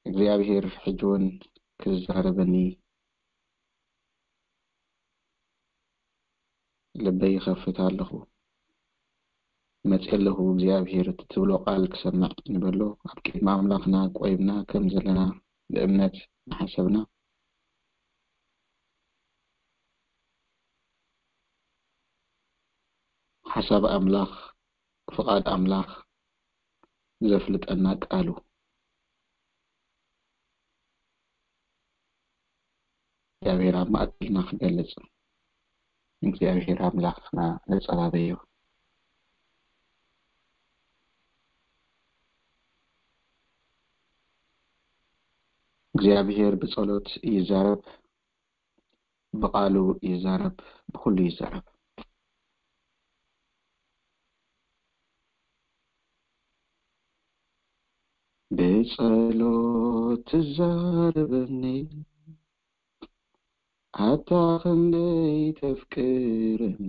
እግዚኣብሔር ሕጂ እውን ክዛረበኒ ልበይ ይኸፍት ኣለኹ። መጽእ ኣለኹ እግዚኣብሔር፣ እቲ ትብሎ ቃል ክሰምዕ ንበሎ። ኣብ ቅድሚ ኣምላኽና ቆይምና ከም ዘለና ብእምነት እናሓሰብና፣ ሓሳብ ኣምላኽ፣ ፍቓድ ኣምላኽ ዘፍልጠና ቃሉ እግዚኣብሔር ኣብ ማእከልና ክገልጽ እግዚኣብሔር ኣምላኽና ነጸባበዮ። እግዚኣብሔር ብጸሎት ይዛረብ፣ ብቓሉ ይዛረብ፣ ብኹሉ ይዛረብ። ብጸሎት ትዛረበኒ፣ ኣታ ክንደይ ተፍቅረኒ፣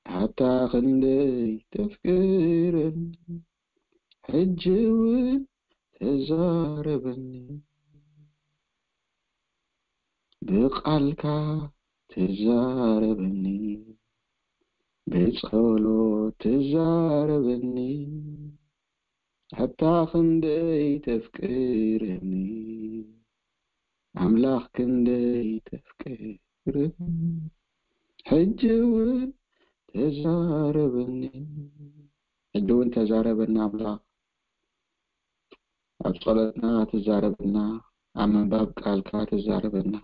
ኣታ ክንደይ ተፍቅረኒ፣ ሕጂ እውን ተዛረበኒ። ብቓልካ ተዛረበኒ፣ ብጸሎት ተዛረበኒ፣ ኣታ ክንደይ ተፍቅረኒ፣ ኣምላኽ ክንደይ ተፍቅረኒ፣ ሕጂ እውን ተዛረበኒ። ሕጂ እውን ተዛረበና ኣምላኽ። ኣብ ጸሎትና ትዛረበና፣ ኣብ ምንባብ ቃልካ ትዛረበና።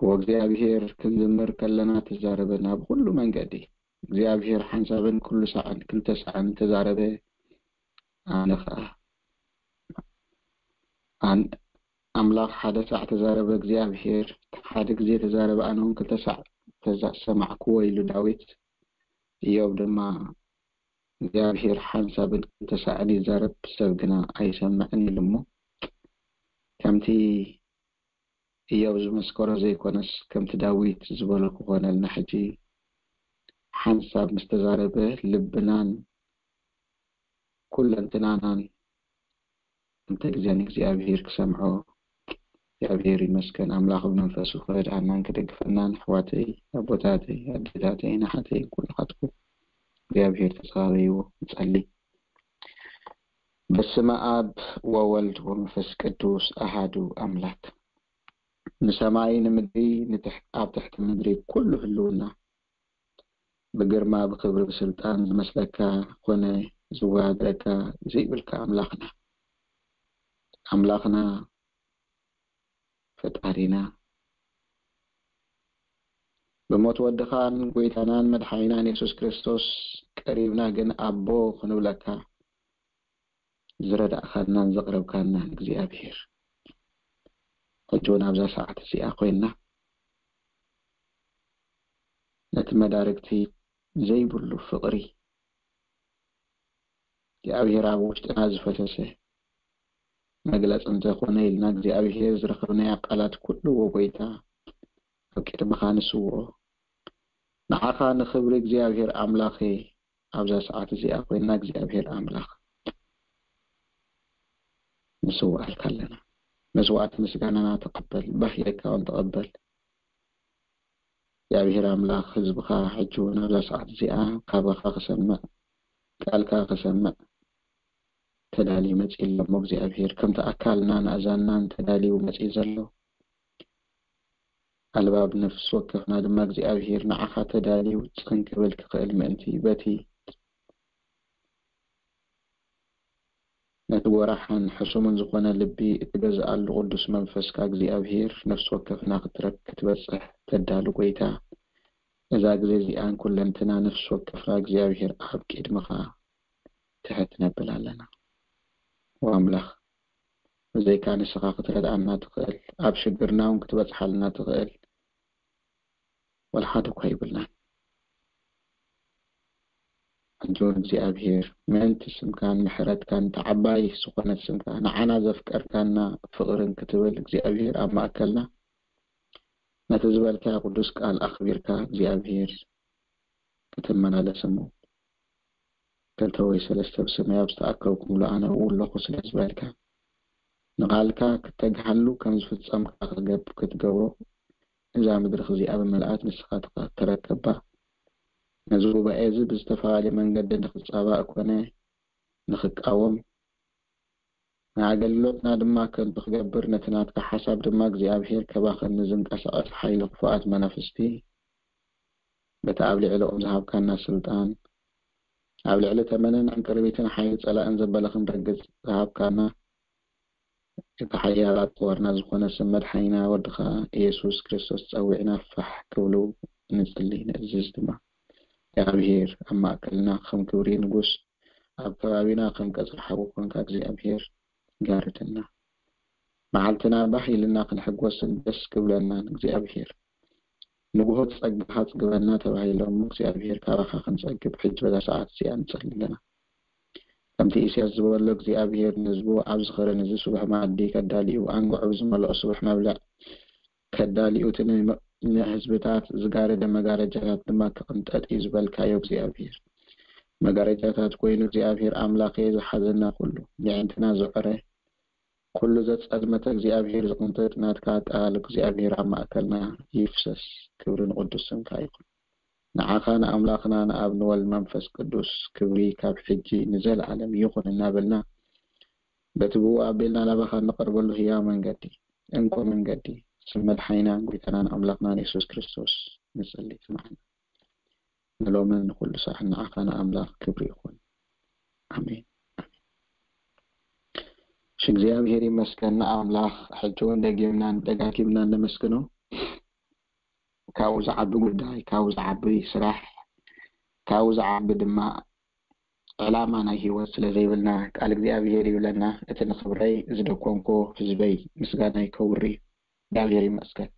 ወእግዚኣብሔር ክንዝምር ከለና ትዛረበና ብኹሉ መንገዲ። እግዚኣብሔር ሓንሳብን ኩሉ ሳዕን ክልተ ሳዕን ተዛረበ። ኣነ ኸኣ ኣን-፣ ኣምላኽ ሓደ ሳዕ ተዛረበ እግዚኣብሔር፣ ሓደ ግዜ ተዛረበ፣ ኣነ እውን ክልተ ሳዕ ተዛ-፣ ሰማዕክዎ ኢሉ ዳዊት። ኢዮብ ድማ እግዚኣብሔር ሓንሳብን ክልተ ሳዕን ይዛረብ፣ ሰብ ግና ኣይሰምዕን ኢሉ እሞ፣ ከምቲ ኢዮብ ዝመስከሮ ዘይኮነስ፣ ከምቲ ዳዊት ዝበሎ ክኾነልና። ሕጂ ሓንሳብ ምስ ተዛረበ፣ ልብናን ኩለንትናናን እንተ ግዜ ንእግዚኣብሔር ክሰምዖ፣ እግዚኣብሔር ይመስገን። ኣምላኽ ብመንፈሱ ክረድኣናን ክደግፈናን፣ ኣሕዋተይ፣ ኣቦታተይ፣ ኣዴታተይ፣ ንሓተይ፣ ኩልኻትኩም እግዚኣብሔር ተጸባበይዎ። ንጸሊ። በስመ ኣብ ወወልድ ወመንፈስ ቅዱስ ኣሃዱ ኣምላክ። ንሰማይ ንምድሪ ንትሕ-፣ ኣብ ትሕቲ ምድሪ ኩሉ ህልውና ብግርማ ብክብሪ ብስልጣን ዝመስለካ ኮነ ዝወዳደረካ ዘይብልካ ኣምላኽና፣ ኣምላኽና ፈጣሪና፣ ብሞት ወድኻን ጎይታናን መድሓኒናን የሱስ ክርስቶስ ቀሪብና ግን ኣቦ ክንብለካ ዝረዳእካናን ዘቕረብካናን እግዚኣብሔር፣ ሕጂ እውን ኣብዛ ሰዓት እዚኣ ኮይንና ነቲ መዳርግቲ ዘይብሉ ፍቕሪ እግዚኣብሔር ኣብ ውሽጥና ዝፈሰሰ መግለጺ እንተኾነ ኢልና እግዚኣብሔር ዝረኸብናዮ ቃላት ኩሉ፣ ወጎይታ፣ ኣብ ቅድመኻ ንስውኦ። ንዓኻ ንኽብሪ እግዚኣብሔር ኣምላኸ ኣብዛ ሰዓት እዚኣ ኮይና እግዚኣብሔር ኣምላኽ ንስውኣልካ ኣለና። መስዋዕቲ ምስጋናና ተቐበል፣ ባህ ኢልካ እውን ተቐበል። እግዚኣብሔር ኣምላኽ ህዝብኻ ሕጂ እውን ኣብዛ ሰዓት እዚኣ ካባኻ ክሰምዕ፣ ቃልካ ክሰምዕ ተዳልዩ መጺኡ ኣሎ እሞ እግዚኣብሔር ከምቲ ኣካልናን ኣእዛንናን ተዳልዩ መጺኡ ዘሎ ኣልባብ ነፍሲ ወከፍና ድማ እግዚኣብሔር ንዓኻ ተዳልዩ ጽን ክብል ክኽእል ምእንቲ በቲ ነቲ ወራሕን ሕሱምን ዝኾነ ልቢ እትገዝኣሉ ቅዱስ መንፈስካ እግዚኣብሔር ነፍሲ ወከፍና ክትረክ-፣ ክትበጽሕ ተዳሉ ጎይታ፣ እዛ ግዜ እዚኣን ኩለንትና ነፍሲ ወከፍና እግዚኣብሔር ኣብ ቅድምኻ ትሕት ነብል ኣለና። ወኣምላኽ፣ ብዘይካ ንስኻ ክትረድኣና ትኽእል፣ ኣብ ሽግርና እውን ክትበጽሓልና ትኽእል ወላ ሓደ እኳ የብልናን። ሕጂ እውን እግዚኣብሔር ምእንቲ ስምካን ምሕረትካን እታ ዓባይ ዝኾነት ስምካ ንዓና ዘፍቀርካና ፍቕርን ክትብል እግዚኣብሔር ኣብ ማእከልና ነቲ ዝበልካዮ ቅዱስ ቃል ኣኽቢርካ እግዚኣብሔር ክትመላለስ እሞ ክልተ ወይ ሰለስተ ብስመይ ኣብ ዝተኣከብኩምሉ ኣነ ኣብኡ ኣለኹ ስለ ዝበልካ ንቓልካ ክተግሃሉ ከም ዝፍጸምካ ክትገብሮ እዛ ምድሪ እዚኣ ብምልኣት ንስኻ ትረከባ። ነዚ ጉባኤ እዚ ብዝተፈላለየ መንገዲ ንኽጻባእ ኮነ ንኽቃወም ንኣገልግሎትና ድማ ከንቱ ክገብር ነቲ ናትካ ሓሳብ ድማ እግዚኣብሔር ከባኸን ንዝንቀሳቐስ ሓይሊ ክፉኣት መናፍስቲ በቲ ኣብ ልዕሊኦም ዝሃብካና ስልጣን ኣብ ልዕሊ ተመንን ዕንቅርቢትን ሓይሊ ጸላእን ዘበለ ክንረግጽ ዝሃብካና እቲ ሓያል ኣጽዋርና ዝኾነ ስም መድሓኒና ወድኻ ኢየሱስ ክርስቶስ ጸዊዕና ፋሕ ክብሉ ንጽሊ ንእዝዝ ድማ እግዚኣብሔር ኣብ ማእከልና ከም ክብሪ ንጉስ ኣብ ከባቢና ከም ቀጽሪ ሓዊ ኮንካ እግዚኣብሔር ጋርደና መዓልትና ባህ ኢልና ክንሕጎስን ደስ ክብለናን እግዚኣብሔር ንግሆ ጸጋኻ ጽግበና ተባሂሎም እግዚኣብሔር ካባኻ ክንጸግብ ሕጂ በዛ ሰዓት እዚኣ ንጸሊ ኣለና ከምቲ ኢሳያስ ዝበሎ እግዚኣብሔር ንህዝቡ ኣብዚ ኸረን እዚ ስቡሕ ማዕዲ ከዳልዩ ኣንግዑ ብዝመልኦ ስቡሕ መብልዕ ከዳልዩ እቲ ንህዝብታት ዝጋረደ መጋረጃታት ድማ ክቕንጠጥ እዩ ዝበልካዮ እግዚኣብሔር መጋረጃታት ኮይኑ እግዚኣብሔር ኣምላኸ ዝሓዘና ኩሉ የዕንትና ዝዕረ ኩሉ ዘጸልመተ እግዚኣብሔር ዝቕንጥጥ ናትካ ቃል እግዚኣብሔር ኣብ ማእከልና ይፍሰስ ክብሪ ንቕዱስ ስምካ ይኹን ንዓኻ ንኣምላኽና ንኣብ ንወልድ መንፈስ ቅዱስ ክብሪ ካብ ሕጂ ንዘለዓለም ይኹን እናበልና በቲ ብኡ ኣቢልና ናባኻ እንቐርበሉ ህያው መንገዲ እንኮ መንገዲ ስም መድሓኒናን ጎይታናን ኣምላኽናን የሱስ ክርስቶስ ንጽሊ ስምዓና ንሎምን ንኹሉ ሰዓት ንዓኻ ንኣምላኽ ክብሪ ይኹን ኣሜን እሺ እግዚኣብሔር ይመስገን ንኣምላኽ ሕጂ እውን ደጊምናን ደጋጊምናን ነመስግኖ ካብኡ ዝዓቢ ጉዳይ ካብኡ ዝዓቢ ስራሕ ካብኡ ዝዓቢ ድማ ዕላማ ናይ ህይወት ስለ ዘይብልና ቃል እግዚኣብሔር ይብለና እቲ ንኽብረይ ዝደኮንኮ ህዝበይ ምስጋናይ ከውሪ እዩ እግዚኣብሔር ይመስገን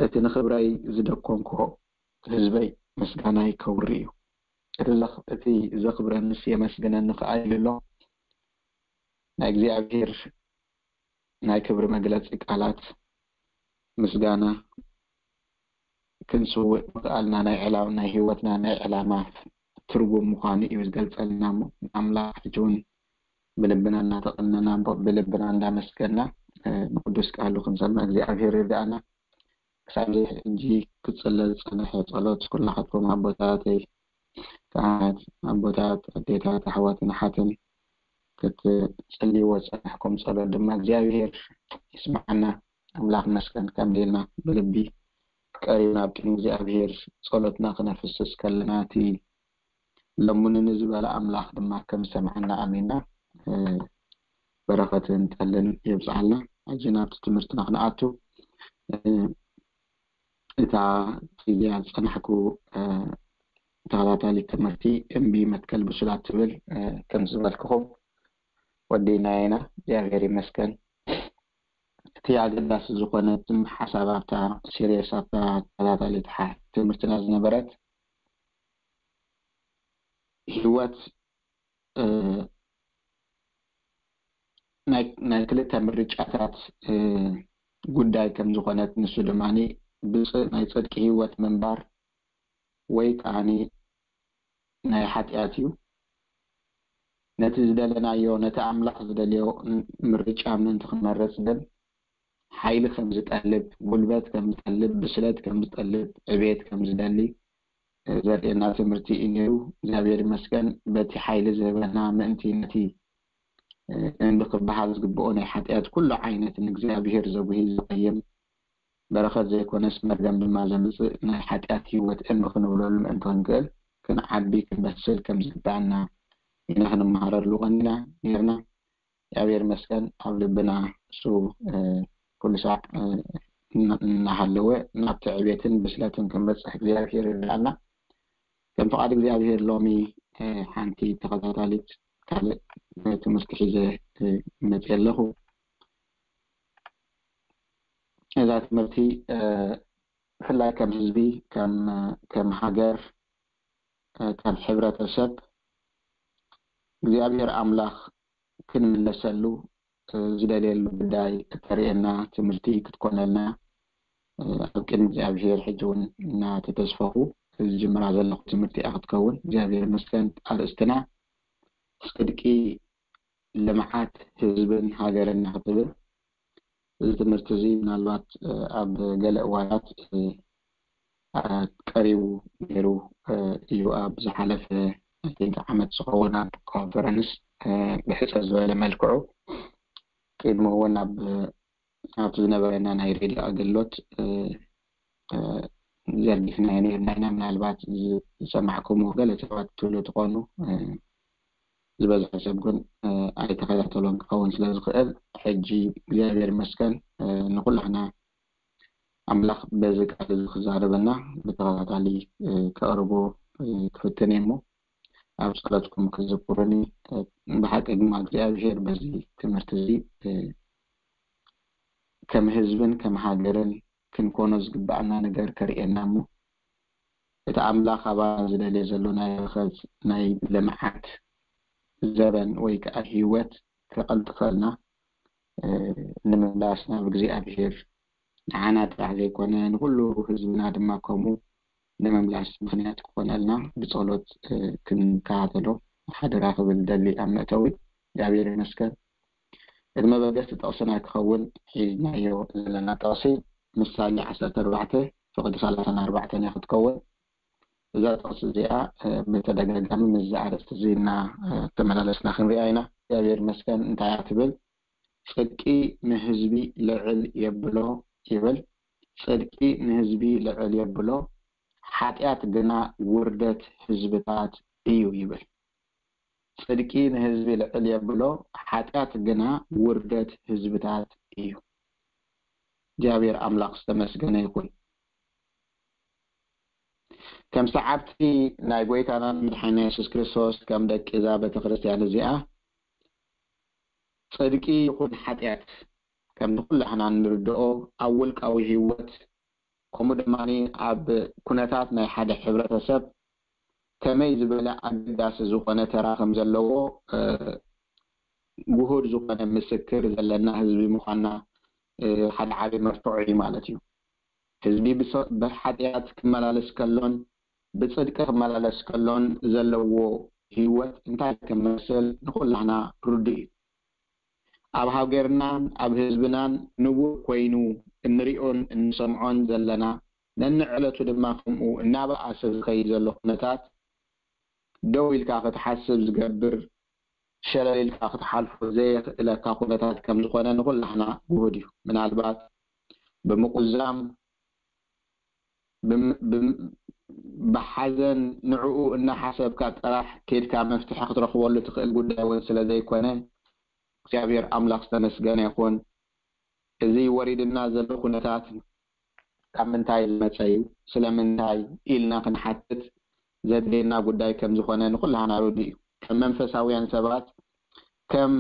እቲ ንኽብረይ ዝደኮንኮ ህዝበይ ምስጋናይ ከውሪ እዩ እቲ ዘኽብረንስ የመስግነኒ ከኣ ይብሎ ናይ እግዚኣብሔር ናይ ክብሪ መግለጺ ቃላት ምስጋና ክንስውእ ምኽኣልና ናይ ዕላው ናይ ህይወትና ናይ ዕላማ ትርጉም ምዃኑ እዩ ዝገልጸልና እሞ ንኣምላኽ ሕጂ እውን ብልብና እናተቐነና ብልብና እንዳመስገና ንቅዱስ ቃሉ ክንሰምዕ እግዚኣብሔር ይርዳእና ክሳብ ሕጂ ክጽለ ዝጸንሐ ጸሎት ኩላኻትኩም ኣቦታተይ ካህናት ኣቦታት ኣዴታት ኣሕዋትን ኣሓትን ክትጽልይዎ ዝጸናሕኩም ጸሎት ድማ እግዚኣብሔር ይስምዓና ኣምላኽ መስገን ከም ኢልና ብልቢ ቀሪብና ኣብ ቅድሚ እግዚኣብሔር ጸሎትና ክነፍስስ ከለና እቲ ለሙንኒ ዝበለ ኣምላኽ ድማ ከም ዝሰምዓና ኣሚንና በረኸትን ጠልን የብዝሓልና። ሕጂ ናብቲ ትምህርትና ክንኣቱ እታ ፊልያ ዝጸናሕኩ ተኸታታሊ ትምህርቲ እምቢ መትከል ብሱላት ትብል ከም ዝበልክኹም ወዲናየና እግዚኣብሔር ይመስገን። እቲ ኣገዳሲ ዝኾነ ትም ሓሳብ ኣብታ ሲሪየስ ኣብታ ተኸታታሊ ትሓ- ትምህርትና ዝነበረት ህይወት ናይ ክልተ ምርጫታት ጉዳይ ከም ዝኾነት ንሱ ድማ ብፅእ ናይ ፅድቂ ህይወት ምንባር ወይ ከዓ ናይ ሓጢኣት እዩ። ነቲ ዝደለናዮ ነቲ ኣምላኽ ዝደልዮ ምርጫ ምእንቲ ክንመርፅ ግን ሓይሊ ከም ዝጠልብ፣ ጉልበት ከም ዝጠልብ፣ ብስለት ከም ዝጠልብ፣ ዕቤት ከም ዝደሊ ዘርእየና ትምህርቲ እዩ ነይሩ። እግዚኣብሔር ይመስገን በቲ ሓይሊ ዝህበና ምእንቲ ነቲ እንቢ ክበሃል ዝግብኦ ናይ ሓጢኣት ኩሉ ዓይነት ንእግዚኣብሔር ዘጉሂ ዝቐይም በረኸት ዘይኮነስ መርገም ድማ ዘምፅእ ናይ ሓጢኣት ህይወት እንቢ ክንብለሉ ምእንቲ ክንክእል ክንዓቢ ክንበስል ከም ዝግባኣና ኢና ክንመሃረሉ ቀኒና ነርና። እግዚኣብሔር ይመስገን ኣብ ልብና እሱ ኩሉ ሳዕ እናሃለወ ናብ ትዕቤትን ብስለትን ክንበፅሕ እግዚኣብሔር ይርዳእና። ከም ፍቓድ እግዚኣብሔር ሎሚ ሓንቲ ተኸታታሊት ካልእ ትምህርቲ ሒዘ መፅእ ኣለኹ። እዛ ትምህርቲ ብፍላይ ከም ህዝቢ ከም ሃገር ከም ሕብረተሰብ እግዚኣብሔር ኣምላኽ ክንምለሰሉ ዝደልየሉ ጉዳይ እተርእየና ትምህርቲ ክትኮነልና ኣብ ቅድሚ እግዚኣብሔር ሕጂ እውን እናተተስፈኹ ዝጅምራ ዘለኹ ትምህርቲ እያ ክትከውን። እግዚኣብሔር ይመስገን። ኣርእስትና ጽድቂ፣ ልምዓት ህዝብን ሃገርን ክትብል። እዚ ትምህርቲ እዚ ምናልባት ኣብ ገለ እዋናት ቀሪቡ ነይሩ እዩ። ኣብ ዝሓለፈ ዓመት ዝኸውን ኣብ ኮንፈረንስ ብሕፅር ዝበለ መልክዑ ቅድሚ እውን ኣብ ኣብቲ ዝነበረና ናይ ሬድዮ ኣገልግሎት ዘርጊሕናዮ ነይርና ኢና። ምናልባት ዝሰማዕኩምዎ ገለ ሰባት ትብሉ ትኾኑ። ዝበዝሐ ሰብ ግን ኣይተኸታተሎን ክኸውን ስለ ዝኽእል፣ ሕጂ እግዚኣብሔር ይመስገን ንኩላህና ኣምላኽ በዚ ቃል እዚ ክዛረበና ብተኸታታሊ ከቕርቦ ክፍትን እየ እሞ ኣብ ጸሎትኩም ክዝክሩኒ። ብሓቂ ድማ እግዚኣብሔር በዚ ትምህርቲ እዚ ከም ህዝብን ከም ሃገርን ክንኮኖ ዝግባኣና ነገር ከርእየና እሞ እቲ ኣምላኽ ኣባና ዝደልዮ ዘሎ ናይ በረኸት ናይ ልምዓት ዘበን ወይ ከዓ ህይወት ከቐልጥፈልና ንምምላስ ናብ እግዚኣብሔር ንዓና ጥራሕ ዘይኮነ ንኩሉ ህዝብና ድማ ከምኡ ንምምላስ ምኽንያት ክኾነልና ብጸሎት ክንከታተሎ ሓደራ ክብል ደሊ ኣብ መእተዊ። እግዚኣብሔር ይመስገን። እቲ መበገሲ ጥቕስና ክኸውን ሒዝናዮ ዘለና ጥቕሲ ምሳሌ ዓሰርተ ኣርባዕተ ፍቕዲ ሰላሳን ኣርባዕተን እያ ክትከውን። እዛ ጥቕሲ እዚኣ ብተደጋጋሚ ምስዚ ኣርእስቲ እዚ እናተመላለስና ክንሪኣ ኢና። እግዚኣብሔር ይመስገን። እንታይ እያ ትብል? ጽድቂ ንህዝቢ ልዕል የብሎ ይብል። ጽድቂ ንህዝቢ ልዕል የብሎ፣ ሓጢኣት ግና ውርደት ህዝብታት እዩ ይብል። ጽድቂ ንህዝቢ ልዕል የብሎ፣ ሓጢኣት ግና ውርደት ህዝብታት እዩ። እግዚኣብሔር ኣምላኽ ዝተመስገነ ይኹን። ከም ሰዓብቲ ናይ ጎይታናን መድሓኒና የሱስ ክርስቶስ ከም ደቂ እዛ ቤተክርስትያን እዚኣ ጽድቂ ይኹን ሓጢኣት ከም ኩላህና እንርድኦ ኣብ ውልቃዊ ህይወት ከምኡ ድማ ኣብ ኩነታት ናይ ሓደ ሕብረተሰብ ከመይ ዝበለ ኣገዳሲ ዝኾነ ተራ ከም ዘለዎ ግሁድ ዝኾነ ምስክር ዘለና ህዝቢ ምዃንና ሓደ ዓቢ መርትዖ እዩ ማለት እዩ። ህዝቢ ብሓጢኣት ክመላለስ ከሎን ብጽድቂ ክመላለስ ከሎን ዘለዎ ህይወት እንታይ ከም መስል ንኹላህና ርዱእ እዩ። ኣብ ሃገርናን ኣብ ህዝብናን ንቡር ኮይኑ እንሪኦን እንሰምዖን ዘለና ነንዕለቱ ድማ ከምኡ እናበኣሰ ዝኸይድ ዘሎ ኩነታት ደው ኢልካ ክትሓስብ ዝገብር ሸለል ኢልካ ክትሓልፎ ዘየኽእለካ ኩነታት ከም ዝኾነ ንኹላህና ግሁድ እዩ። ምናልባት ብምቁዛም ብሓዘን ንዕኡ እናሓሰብካ ጥራሕ ኬድካ መፍትሒ ክትረኽበሉ ትኽእል ጉዳይ እውን ስለ ዘይኮነ እግዚኣብሔር ኣምላኽ ዝተመስገነ ይኹን። እዚ ወሪድና ዘሎ ኩነታት ካብ ምንታይ ዝመፀ እዩ ስለምንታይ ኢልና ክንሓትት ዘድልየና ጉዳይ ከም ዝኾነ ንኩላህና ርዱእ እዩ። ከም መንፈሳውያን ሰባት ከም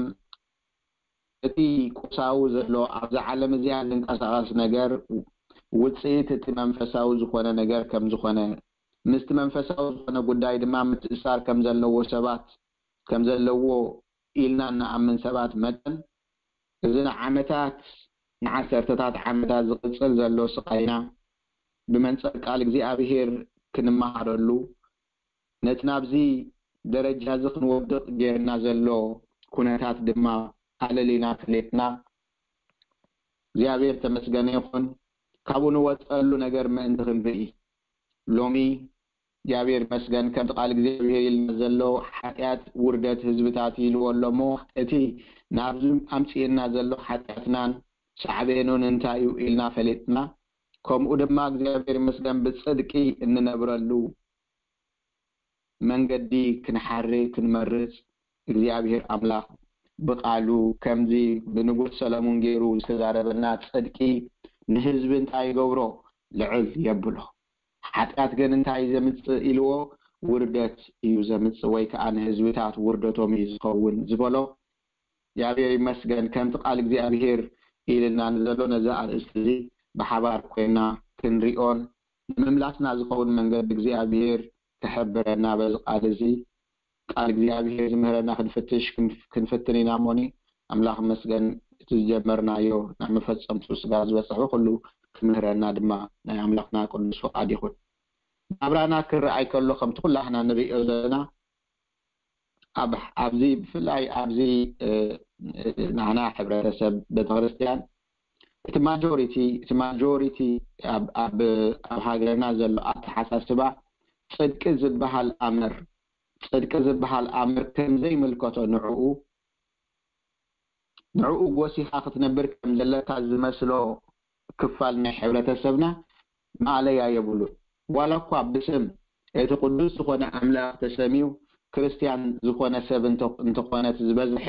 እቲ ቁሳዊ ዘሎ ኣብዛ ዓለም እዚኣ ዝንቀሳቐስ ነገር ውፅኢት እቲ መንፈሳዊ ዝኾነ ነገር ከም ዝኾነ ምስቲ መንፈሳዊ ዝኾነ ጉዳይ ድማ ምትእሳር ከም ዘለዎ ሰባት ከም ዘለዎ ኢልና እንኣምን ሰባት መጠን እዚ ንዓመታት ንዓሰርተታት ዓመታት ዝቕፅል ዘሎ ስቓይና ብመንፅር ቃል እግዚኣብሔር ክንመሃረሉ ነቲ ናብዚ ደረጃ እዚ ክንወድቕ ጌርና ዘሎ ኩነታት ድማ ኣለሊና ፈሊጥና እግዚኣብሔር ተመስገነ ይኹን። ካብኡ ንወፀሉ ነገር ምእንቲ ክንርኢ ሎሚ እግዚኣብሔር ይመስገን ከምቲ ቃል እግዚኣብሔር ኢልና ዘሎ ሓጢኣት ውርደት ህዝብታት ኢልዎ ኣሎ እሞ እቲ ናብዚ ኣምፅእና ዘሎ ሓጢኣትናን ሳዕቤኑን እንታይ እዩ ኢልና ፈሊጥና ከምኡ ድማ እግዚኣብሔር ይመስገን ብፅድቂ እንነብረሉ መንገዲ ክንሓሪ ክንመርፅ እግዚኣብሔር ኣምላኽ ብቃሉ ከምዚ ብንጉስ ሰለሙን ገይሩ ዝተዛረበና ፅድቂ ንህዝቢ እንታይ ይገብሮ? ልዕል የብሎ። ሓጢኣት ግን እንታይ ዘምፅእ ኢልዎ? ውርደት እዩ ዘምፅእ ወይ ከዓ ንህዝብታት ውርደቶም እዩ ዝኸውን ዝበሎ እግዚኣብሔር ይመስገን ከምቲ ቃል እግዚኣብሔር ኢልና ንዘሎ ነዚ ኣርእስቲ እዚ ብሓባር ኮይና ክንሪኦን ንምምላስና ዝኸውን መንገዲ እግዚኣብሔር ክሕብረና በዚ ቃል እዚ። ቃል እግዚኣብሔር ዝምህረና ክንፍትሽ ክንፍ- ክንፍትን ኢና እሞኒ። ኣምላኽ መስገን፣ እቲ ዝጀመርናዮ ናብ መፈጸምቱ ስጋ ዝበጽሑ ኩሉ ክምህረና ድማ ናይ ኣምላኽና ቅዱስ ፍቓድ ይኹን። ናብራና ክረኣይ ከሎ ከምቲ ኩላህና ንርእዮ ዘለና ኣብ ኣብዚ ብፍላይ ኣብዚ እ፣ እ፣ ናህና ሕብረተሰብ ቤተክርስትያን እቲ ማጆሪቲ እቲ ማጆሪቲ ኣብ ኣብ ኣብ ሃገርና ዘሎ ኣተሓሳስባ ጽድቂ ዝበሃል ኣምር ጽድቂ ዝበሃል ኣምር ከም ዘይምልከቶ ንዕኡ ንዕኡ ጎሲኻ ክትነብር ከም ዘለካ ዝመስሎ ክፋል ናይ ሕብረተሰብና ማእለያ የብሉን። ዋላ እኳ ብስም እቲ ቅዱስ ዝኾነ ኣምላኽ ተሰምዩ ክርስትያን ዝኾነ ሰብ እንተ- እንተኾነ እቲ ዝበዝሐ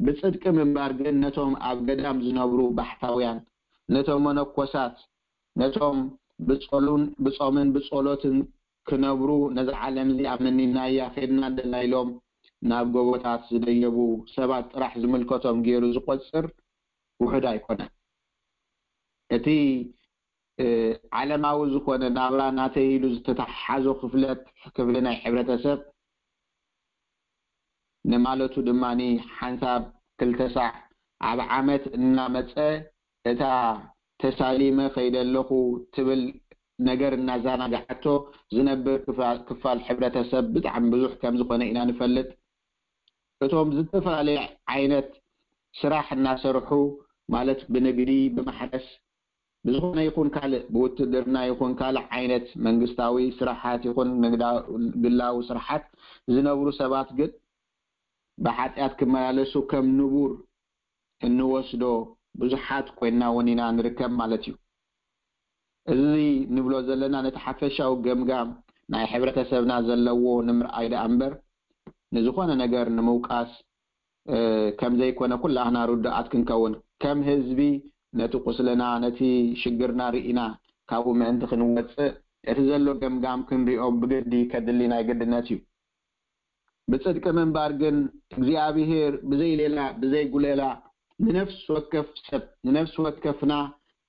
ብጽድቂ ምንባር ግን ነቶም ኣብ ገዳም ዝነብሩ ባሕታውያን ነቶም መነኮሳት ነቶም ብጾሉን ብጾምን ብጾሎትን ክነብሩ ነዛ ዓለም እዚኣ መኒናያ ኬድና ኣለና ኢሎም ናብ ጎቦታት ዝደየቡ ሰባት ጥራሕ ዝምልከቶም ገይሩ ዝቆጽር ውሑድ ኣይኮነን። እቲ እ፣ ዓለማዊ ዝኾነ ናብራ ናተይ ኢሉ ዝተተሓሓዞ ክፍለት ክፍሊ ናይ ሕብረተሰብ ንማለቱ ድማ ሓንሳብ ክልተ ሳዕ ኣብ ዓመት እናመፀ እታ ተሳሊመ ከይደ ኣለኹ ትብል ነገር እናዘናግዓቶ ዝነብር ክፋ- ክፋል ሕብረተሰብ ብጣዕሚ ብዙሕ ከም ዝኾነ ኢና ንፈልጥ። እቶም ዝተፈላለየ ዓይነት ስራሕ እናሰርሑ ማለት ብንግዲ፣ ብማሕረስ፣ ብዝኾነ ይኹን ካልእ ብውትድርና ይኹን ካልእ ዓይነት መንግስታዊ ስራሓት ይኹን ንግዳ- ግላዊ ስራሓት ዝነብሩ ሰባት ግን ብሓጢኣት ክመላለሱ ከም ንቡር እንወስዶ ብዙሓት ኮይንና እውን ኢና ንርከብ ማለት እዩ። እዚ ንብሎ ዘለና ነቲ ሓፈሻዊ ገምጋም ናይ ሕብረተሰብና ዘለዎ ንምርኣይ ደኣ እምበር ንዝኾነ ነገር ንምውቃስ እ፣ ከም ዘይኮነ ኩላህና ርዱኣት ክንከውን ከም ህዝቢ ነቲ ቁስልና ነቲ ሽግርና ርኢና ካብኡ ምእንቲ ክንወፅእ እቲ ዘሎ ገምጋም ክንሪኦ ብግዲ ከድሊ ናይ ግድነት እዩ። ብፅድቂ ምንባር ግን እግዚኣብሄር ብዘይ ሌላ ብዘይ ጉሌላ ንነፍሲ ወከፍ ሰብ ንነፍሲ ወከፍና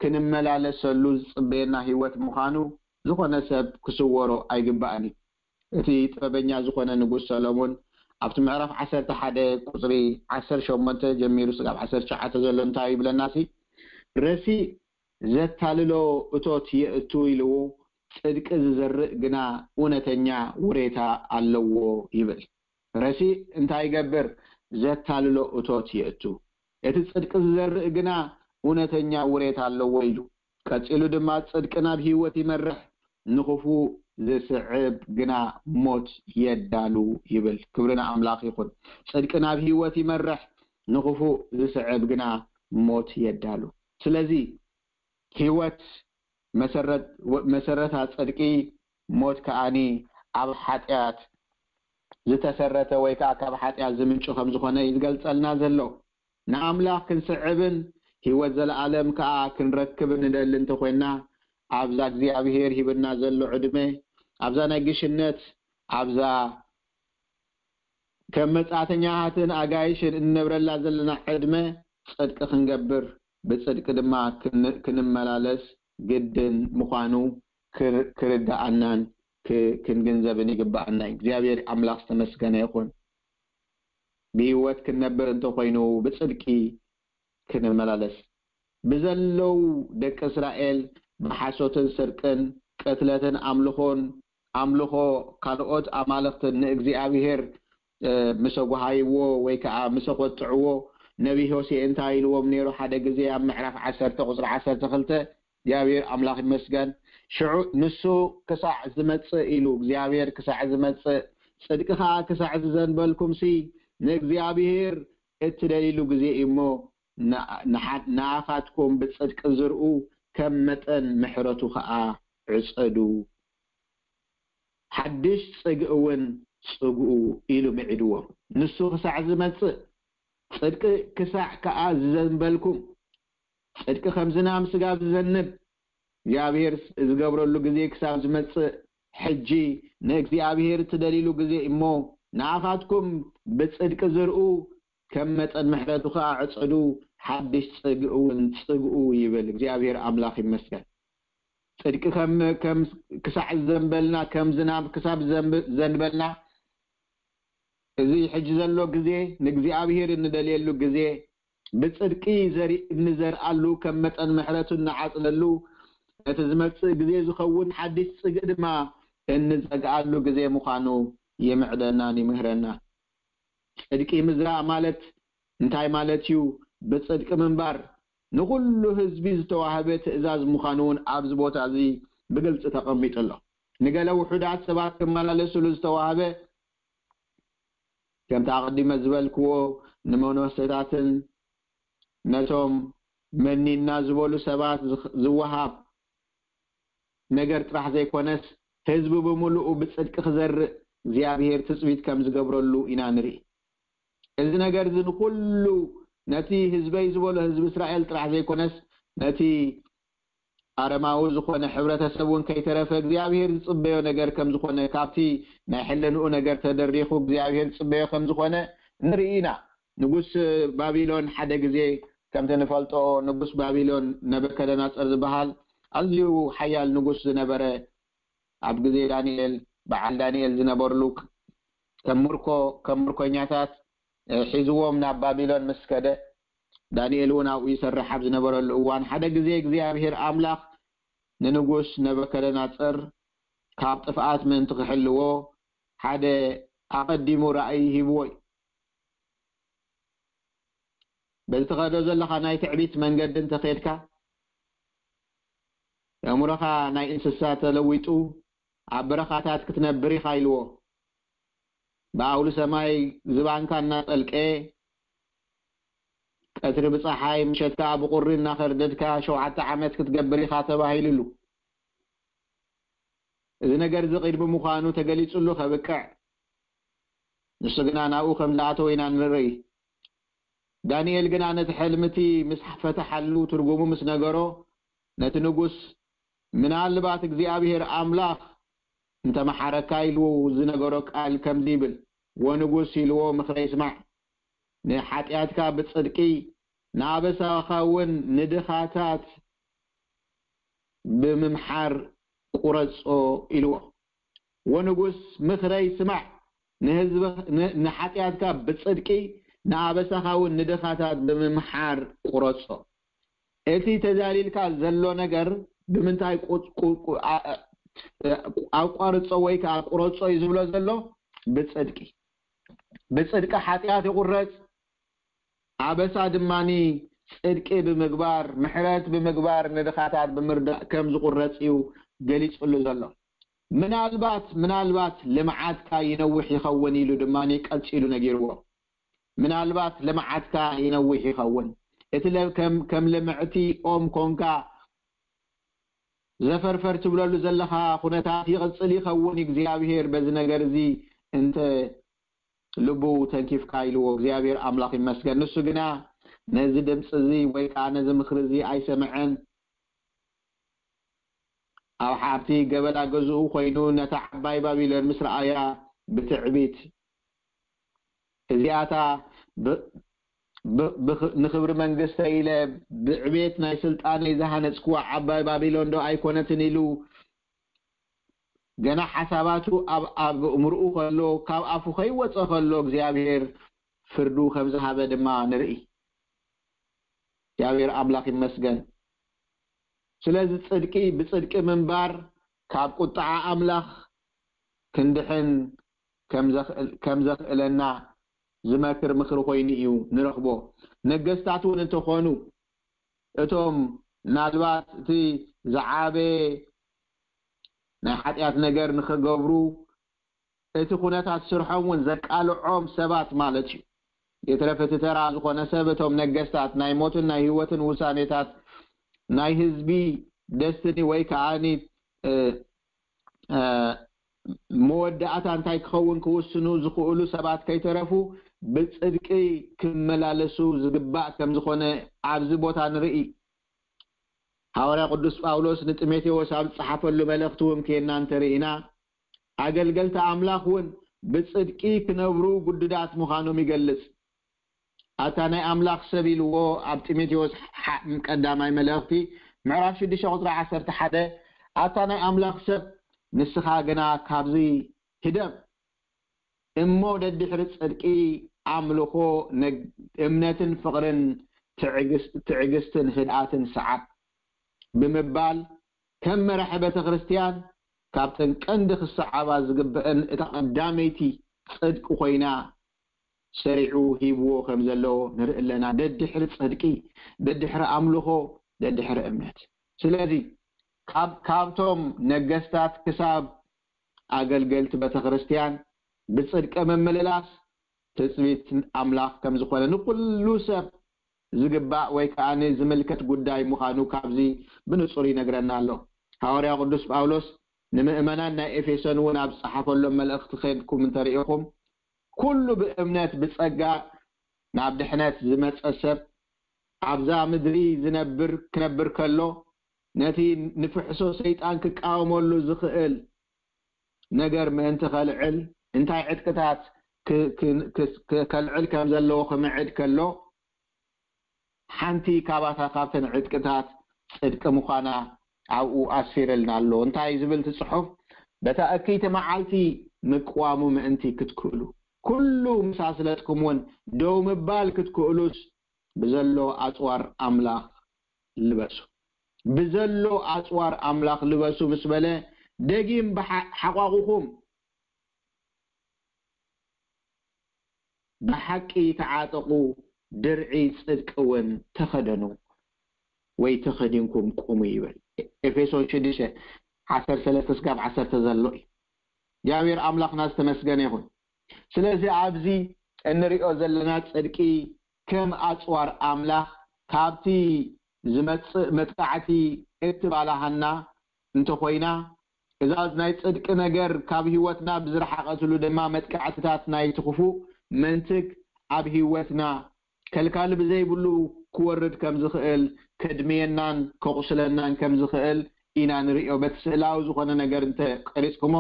ክንመላለሰሉ ዝፅበየና ህይወት ምዃኑ ዝኾነ ሰብ ክስወሮ ኣይግባእን እዩ። እቲ ጥበበኛ ዝኾነ ንጉስ ሰሎሞን ኣብቲ ምዕራፍ ዓሰርተ ሓደ ቁፅሪ ዓሰርተ ሸሞንተ ጀሚሩ ስጋብ ዓሰርተ ትሽዓተ ዘሎ እንታይ ይብለና ሲ ረሲእ ዘታልሎ እቶት የእቱ ኢልዎ ጽድቂ ዝዘርእ ግና እውነተኛ ውሬታ ኣለዎ ይብል። ረሲእ እንታይ ይገብር? ዘታልሎ እቶት የእቱ። እቲ ጽድቂ ዝዘርእ ግና እውነተኛ ውሬታ ኣለዎ ኢሉ። ቀጺሉ ድማ ጽድቂ ናብ ህይወት ይመርሕ፣ ንኽፉእ ዝስዕብ ግና ሞት የዳሉ ይብል። ክብሪ ንኣምላኽ ይኹን። ጽድቂ ናብ ህይወት ይመርሕ፣ ንኽፉእ ዝስዕብ ግና ሞት የዳሉ። ስለዚ ህይወት መሰረት መሰረታ ጽድቂ ሞት ከኣኒ ኣብ ሓጢኣት ዝተሰረተ ወይ ከዓ ካብ ሓጢኣት ዝምንጩ ከም ዝኾነ እዩ ዝገልጸልና ዘሎ። ንኣምላኽ ክንስዕብን ህይወት ዘለኣለም ከዓ ክንረክብን ንደሊ እንተኮይንና ኣብዛ እግዚኣብሄር ሂብና ዘሎ ዕድመ ኣብዛ ናይ ግሽነት ኣብዛ ከም መጻእተኛታትን ኣጋይሽን እንነብረላ ዘለና ዕድመ ጽድቂ ክንገብር ብጽድቂ ድማ ክንመላለስ ግድን ምዃኑ ክርድኣናን ክንግንዘብን ይግብኣና። እግዚኣብሔር ኣምላኽ ዝተመስገነ ይኹን። ብህይወት ክንነብር እንተኾይኑ ብጽድቂ ክንመላለስ ብዘለው ደቂ እስራኤል ብሓሶትን ስርቅን ቅትለትን ኣምልኾን ኣምልኾ ካልኦት ኣማልኽትን ንእግዚኣብሔር ምሰ ጓሃይዎ ወይ ከዓ ምሰ ቆጥዕዎ ነቢ ሆሴ እንታይ ኢልዎም ነይሩ? ሓደ ግዜ ኣብ ምዕራፍ ዓሰርተ ቁፅሪ ዓሰርተ ክልተ እግዚኣብሔር ኣምላኽ ይመስገን። ሽዑ ንሱ ክሳዕ ዝመፅእ ኢሉ እግዚኣብሔር ክሳዕ ዝመፅእ ጽድቂ ከዓ ክሳዕ ዝዘንበልኩም ሲ ንእግዚኣብሔር እትደልይሉ ግዜ እዩ እሞ ንኣኻትኩም ብጽድቂ ዝርኡ ከም መጠን ምሕረቱ ኸኣ ዕጸዱ። ሓድሽ ጽግኢ እውን ጽግኡ ኢሉ ምዒድዎም። ንሱ ክሳዕ ዝመጽእ ጽድቂ ክሳዕ ከኣ ዝዘንበልኩም ጽድቂ ከም ዝናም ስጋብ ዝዘንብ እግዚኣብሔር ዝገብረሉ ግዜ ክሳብ ዝመጽእ ሕጂ ንእግዚኣብሔር እትደልይሉ ግዜ እሞ ንኣኻትኩም ብጽድቂ ዝርኡ ከም መጠን ምሕረቱ ከኣ ዕጸዱ ሓድሽ ጽግእ እውን ጽግኡ ይብል እግዚኣብሔር ኣምላኽ ይመስገን። ጽድቂ ከም ከም ክሳዕ ዘንበልና፣ ከም ዝናብ ክሳብ ዘንብ- ዘንበልና፣ እዚ ሕጂ ዘሎ ግዜ ንእግዚኣብሔር እንደልየሉ ግዜ፣ ብጽድቂ ዘርኢ እንዘርኣሉ፣ ከም መጠን ምሕረቱ እንዓጽደሉ፣ ነቲ ዝመጽእ ግዜ ዝኸውን ሓድሽ ጽግኢ ድማ እንዘግኣሉ ግዜ ምዃኑ ይምዕደናን ይምህረናን። ጽድቂ ምዝራእ ማለት እንታይ ማለት እዩ? ብጽድቂ ምንባር ንኹሉ ህዝቢ ዝተዋህበ ትእዛዝ ምዃኑ እውን ኣብዚ ቦታ እዚ ብግልጺ ተቐሚጡ ኣሎ። ንገለ ውሑዳት ሰባት ክመላለሱሉ ዝተዋህበ፣ ከምቲ ኣቐዲመ ዝበልክዎ፣ ንመነኮሴታትን ነቶም መኒና ዝበሉ ሰባት ዝኽ- ዝወሃብ ነገር ጥራሕ ዘይኮነስ፣ ህዝቢ ብምሉኡ ብጽድቂ ክዘርእ እግዚኣብሔር ትጽቢት ከም ዝገብረሉ ኢና ንርኢ። እዚ ነገር እዚ ንኹሉ፣ ነቲ ህዝበይ ዝበሎ ህዝቢ እስራኤል ጥራሕ ዘይኮነስ፣ ነቲ ኣረማዊ ዝኾነ ሕብረተሰብ እውን ከይተረፈ እግዚኣብሔር ዝጽበዮ ነገር ከም ዝኾነ፣ ካብቲ ናይ ሕልንኡ ነገር ተደሪኹ እግዚኣብሔር ዝጽበዮ ከም ዝኾነ ንርኢ ኢና። ንጉስ ባቢሎን ሓደ ግዜ፣ ከምቲ ንፈልጦ፣ ንጉስ ባቢሎን ነበከደናጸር ዝበሃል ኣዝዩ ሓያል ንጉስ ዝነበረ፣ ኣብ ግዜ ዳንኤል፣ በዓል ዳንኤል ዝነበርሉ፣ ከም ምርኮ፣ ከም ምርኮኛታት፣ እ፣ ሒዝዎም ናብ ባቢሎን ምስ ከደ፣ ዳንኤል እውን ኣብኡ ይሰርሕ ኣብ ዝነበረሉ እዋን፣ ሓደ ግዜ እግዚኣብሔር ኣምላኽ ንንጉስ ነበከደናጸር ካብ ጥፍኣት ምእንቲ ክሕልዎ፣ ሓደ ኣቐዲሙ ራእይ ሂብዎ እዩ። በዚ ትኸዶ ዘለኻ ናይ ትዕቢት መንገዲ እንተኸድካ፣ ኣእምሮኻ ናይ እንስሳ ተለዊጡ፣ ኣብ በረኻታት ክትነብር ኢኻ ኢልዎ። ብኣውሊ ሰማይ ዝባንካ እናጠልቀ፣ ቀትሪ ብፀሓይ፣ ምሸት ከዓ ብቁሪ እናኸርደድካ ሸውዓተ ዓመት ክትገብር ኢኻ ተባሂሉሉ። እዚ ነገር እዚ ቅድሚ ምዃኑ ተገሊጹሉ ከብቅዕ፣ ንሱ ግና ናብኡ ከም ዝኣተወ ኢና ንርኢ። ዳንኤል ግና ነቲ ሕልምቲ ምስ ፈተሓሉ፣ ትርጉሙ ምስ ነገሮ፣ ነቲ ንጉስ፣ ምናልባት እግዚኣብሔር ኣምላኽ እንተመሓረካ ኢሉ ዝነገሮ ቃል ከምዚ ይብል፣ "ወንጉስ ኢልዎ፣ ምኽረይ ስማዕ፣ ንሓጢኣትካ ብጽድቂ፣ ንኣበሳኻ እውን ንድኻታት ብምምሓር ቁረጾ" ኢልዎ። "ወንጉስ ምኽረይ ስማዕ፣ ንህዝብ-፣ ን-፣ ንሓጢኣትካ ብጽድቂ፣ ንኣበሳኻ እውን ንድኻታት ብምምሓር ቁረጾ።" እቲ ተዛሊልካ ዘሎ ነገር ብምንታይ ቁ-፣ ቁ-፣ ቁ-፣ ኣ-፣ ኣ-፣ ኣቋርጾ ወይ ከዓ ቁረጾ እዩ ዝብሎ ዘሎ? ብጽድቂ። ብጽድቂ ሓጢኣት ይቑረጽ፣ ኣበሳ ድማኒ ጽድቂ ብምግባር፣ ምሕረት ብምግባር፣ ንድኻታት ብምርዳእ ከም ዝቑረጽ እዩ ገሊጹሉ ዘሎ። ምናልባት፣ ምናልባት ልምዓትካ ይነውሕ ይኸውን ኢሉ ድማኒ ቀጺሉ ነጊርዎ። ምናልባት ልምዓትካ ይነውሕ ይኸውን። እቲ ለ-፣ ከም፣ ከም ልምዕቲ ኦም ኮንካ ዘፈርፈር ትብለሉ ዘለኻ ኩነታት ይቕጽል ይኸውን። እግዚኣብሔር በዚ ነገር እዚ እንተ ልቡ ተንኪፍካ ኢልዎ። እግዚኣብሔር ኣምላኽ ይመስገን። ንሱ ግና ነዚ ድምፂ እዚ ወይ ከዓ ነዚ ምኽሪ እዚ ኣይሰምዐን። ኣብ ሓብቲ ገበላ ገዝኡ ኮይኑ ነታ ዓባይ ባቢሎን ምስ ረኣያ ብትዕቢት፣ "እዚኣታ ብ-፣ ብ-፣ ብኽ-፣ ንኽብሪ መንግስተይ ኢለ ብዕቤት ናይ ስልጣነይ ዝሃነጽክዋ ዓባይ ባቢሎን ዶ ኣይኮነትን?" ኢሉ ገና ሓሳባቱ ኣብ፣ ኣብ እምርኡ ከሎ፣ ካብ ኣፉ ከይወጸ ከሎ እግዚኣብሔር ፍርዱ ከም ዝሃበ ድማ ንርኢ። እግዚኣብሔር ኣምላኽ ይመስገን። ስለዚ ጽድቂ፣ ብጽድቂ ምንባር ካብ ቁጥዓ ኣምላኽ ክንድሕን ከም ዘኽእል-፣ ከም ዘኽእለና ዝመክር ምኽሪ ኮይኑ እዩ ንረኽቦ። ነገስታት እውን እንተኾኑ፣ እቶም ምናልባት እቲ ዝዓበየ ናይ ሓጢኣት ነገር ንኽገብሩ፣ እቲ ኩነታት ስርሖም እውን ዘቃልዖም ሰባት ማለት እዩ። የተረፈ እቲ ተራ ዝኾነ ሰብ፣ እቶም ነገስታት ናይ ሞትን ናይ ህይወትን ውሳኔታት ናይ ህዝቢ ደስትኒ ወይ ከዓኒ፣ እ፣ እ፣ መወዳእታ እንታይ ክኸውን ክውስኑ ዝኽእሉ ሰባት ከይተረፉ ብጽድቂ ክመላለሱ ዝግባእ ከም ዝኾነ ኣብዚ ቦታ ንርኢ። ሃዋርያ ቅዱስ ጳውሎስ ንጢሞቴዎስ ኣብ ዝጸሓፈሉ መልእኽቲ እውን ኬና እንተርኢና፣ ኣገልገልቲ ኣምላኽ እውን ብጽድቂ ክነብሩ ግዱዳት ምዃኖም ይገልጽ። ኣታ ናይ ኣምላኽ ሰብ ኢልዎ ኣብ ጢሞቴዎስ ሓ-፣ ቀዳማይ መልእኽቲ ምዕራፍ ሽዱሽተ ቁጽሪ ዓሰርተ ሓደ፣ ኣታ ናይ ኣምላኽ ሰብ፣ ንስኻ ግና ካብዚ ህደም እሞ ደድሕሪ ጽድቂ ኣምልኾ፣ ነግ-፣ እምነትን ፍቕርን ትዕግስ-፣ ትዕግስትን ህድኣትን ሰዓብ ብምባል ከም መራሒ ቤተ ክርስቲያን ካብተን ቀንዲ ክሰዓባ ዝግብአን እታ ቀዳመይቲ ጽድቂ ኮይና ሰሪዑ ሂብዎ ከም ዘሎ ንርኢ ኣለና። ደድሕሪ ጽድቂ፣ ደድሕሪ ኣምልኾ፣ ደድሕሪ እምነት። ስለዚ ካብ-፣ ካብቶም ነገስታት ክሳብ ኣገልገልቲ ቤተ ክርስቲያን ብጽድቂ ምምልላስ ትጽቢት ኣምላኽ ከም ዝኾነ ንኩሉ ሰብ ዝግባእ ወይ ከኣ ዝምልከት ጉዳይ ምዃኑ ካብዚ ብንጹር ይነግረና ኣሎ። ሃዋርያ ቅዱስ ጳውሎስ ንምእመናን ናይ ኤፌሶን እውን ኣብ ዝጸሓፈሎም መልእኽቲ ኸድኩም እንተሪኢኹም፣ ኩሉ ብእምነት ብጸጋ ናብ ድሕነት ዝመጸ ሰብ ኣብዛ ምድሪ ዝነብር ክነብር ከሎ ነቲ ንፍሕሶ ሰይጣን ክቃወመሉ ዝኽእል ነገር ምእንቲ ከልዕል እንታይ ዕጥቅታት ክ-፣ ክ-፣ ክ-፣ ክ-፣ ከልዕል ከም ዘለዎ ክምዕድ ከሎ ሓንቲ ካባታ ካብተን ዕጥቅታት ጽድቂ ምዃና ኣብኡ ኣስፊርልና ኣሎ። እንታይ ዝብል እቲ ጽሑፍ? በታ እክይቲ መዓልቲ ምቅዋሙ ምእንቲ ክትክእሉ፣ ኩሉ ምስ ኣስለጥኩም እውን ደው ምባል ክትክእሉስ ብዘሎ ኣጽዋር ኣምላኽ ልበሱ። ብዘሎ ኣጽዋር ኣምላኽ ልበሱ ምስ በለ ደጊም ብሓ-፣ ሓቋቑኹም ብሓቂ ተዓጠቑ፣ ድርዒ ጽድቂ እውን ተኸደኑ ወይ ተኸዲንኩም ቁሙ ይብል። ኤፌሶን ሽዱሽተ ዓሰርተ ሰለስተ ስጋብ ዓሰርተ ዘሎ እዩ። እግዚኣብሔር ኣምላኽና ዝተመስገነ ይኹን። ስለዚ ኣብዚ እንሪኦ ዘለና ጽድቂ ከም ኣጽዋር ኣምላኽ ካብቲ ዝመጽእ መጥቃዕቲ እትባላሃና እንተኾይና፣ እዛ ናይ ጽድቂ ነገር ካብ ህይወትና ብዝረሓቐትሉ ድማ መጥቃዕትታት ናይቲ ክፉእ መንትግ ኣብ ህይወትና ከልካሊ ብዘይብሉ ክወርድ ከም ዝኽእል፣ ከድምየናን ከቑስለናን ከም ዝኽእል ኢና ንርእዮ። በቲ ስእላዊ ዝኾነ ነገር እንተ ቀሪጽኩሞ፣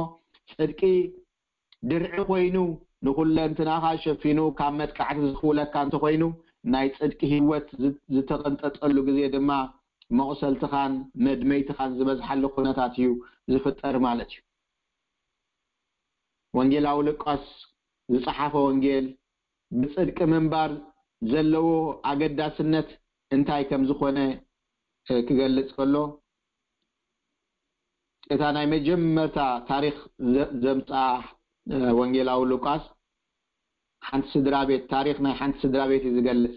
ጽድቂ ድርዒ ኮይኑ ንኹለንትናኻ ሸፊኑ ካብ መጥቃዕቲ ዝኽውለካ እንተኾይኑ፣ ናይ ጽድቂ ህይወት ዝ-፣ ዝተቐንጠጠሉ ግዜ ድማ መቑሰልትኻን መድመይትኻን ዝበዝሓሉ ኩነታት እዩ ዝፍጠር ማለት እዩ። ወንጌላዊ ሉቃስ ዝጸሓፈ ወንጌል ብጽድቂ ምንባር ዘለዎ ኣገዳስነት እንታይ ከም ዝኾነ፣ እ፣ ክገልጽ ከሎ፣ እታ ናይ መጀመርታ ታሪኽ ዘ-፣ ዘምጽኣ፣ እ፣ ወንጌላዊ ሉቃስ ሓንቲ ስድራ ቤት፣ ታሪኽ ናይ ሓንቲ ስድራ ቤት እዩ ዝገልጽ።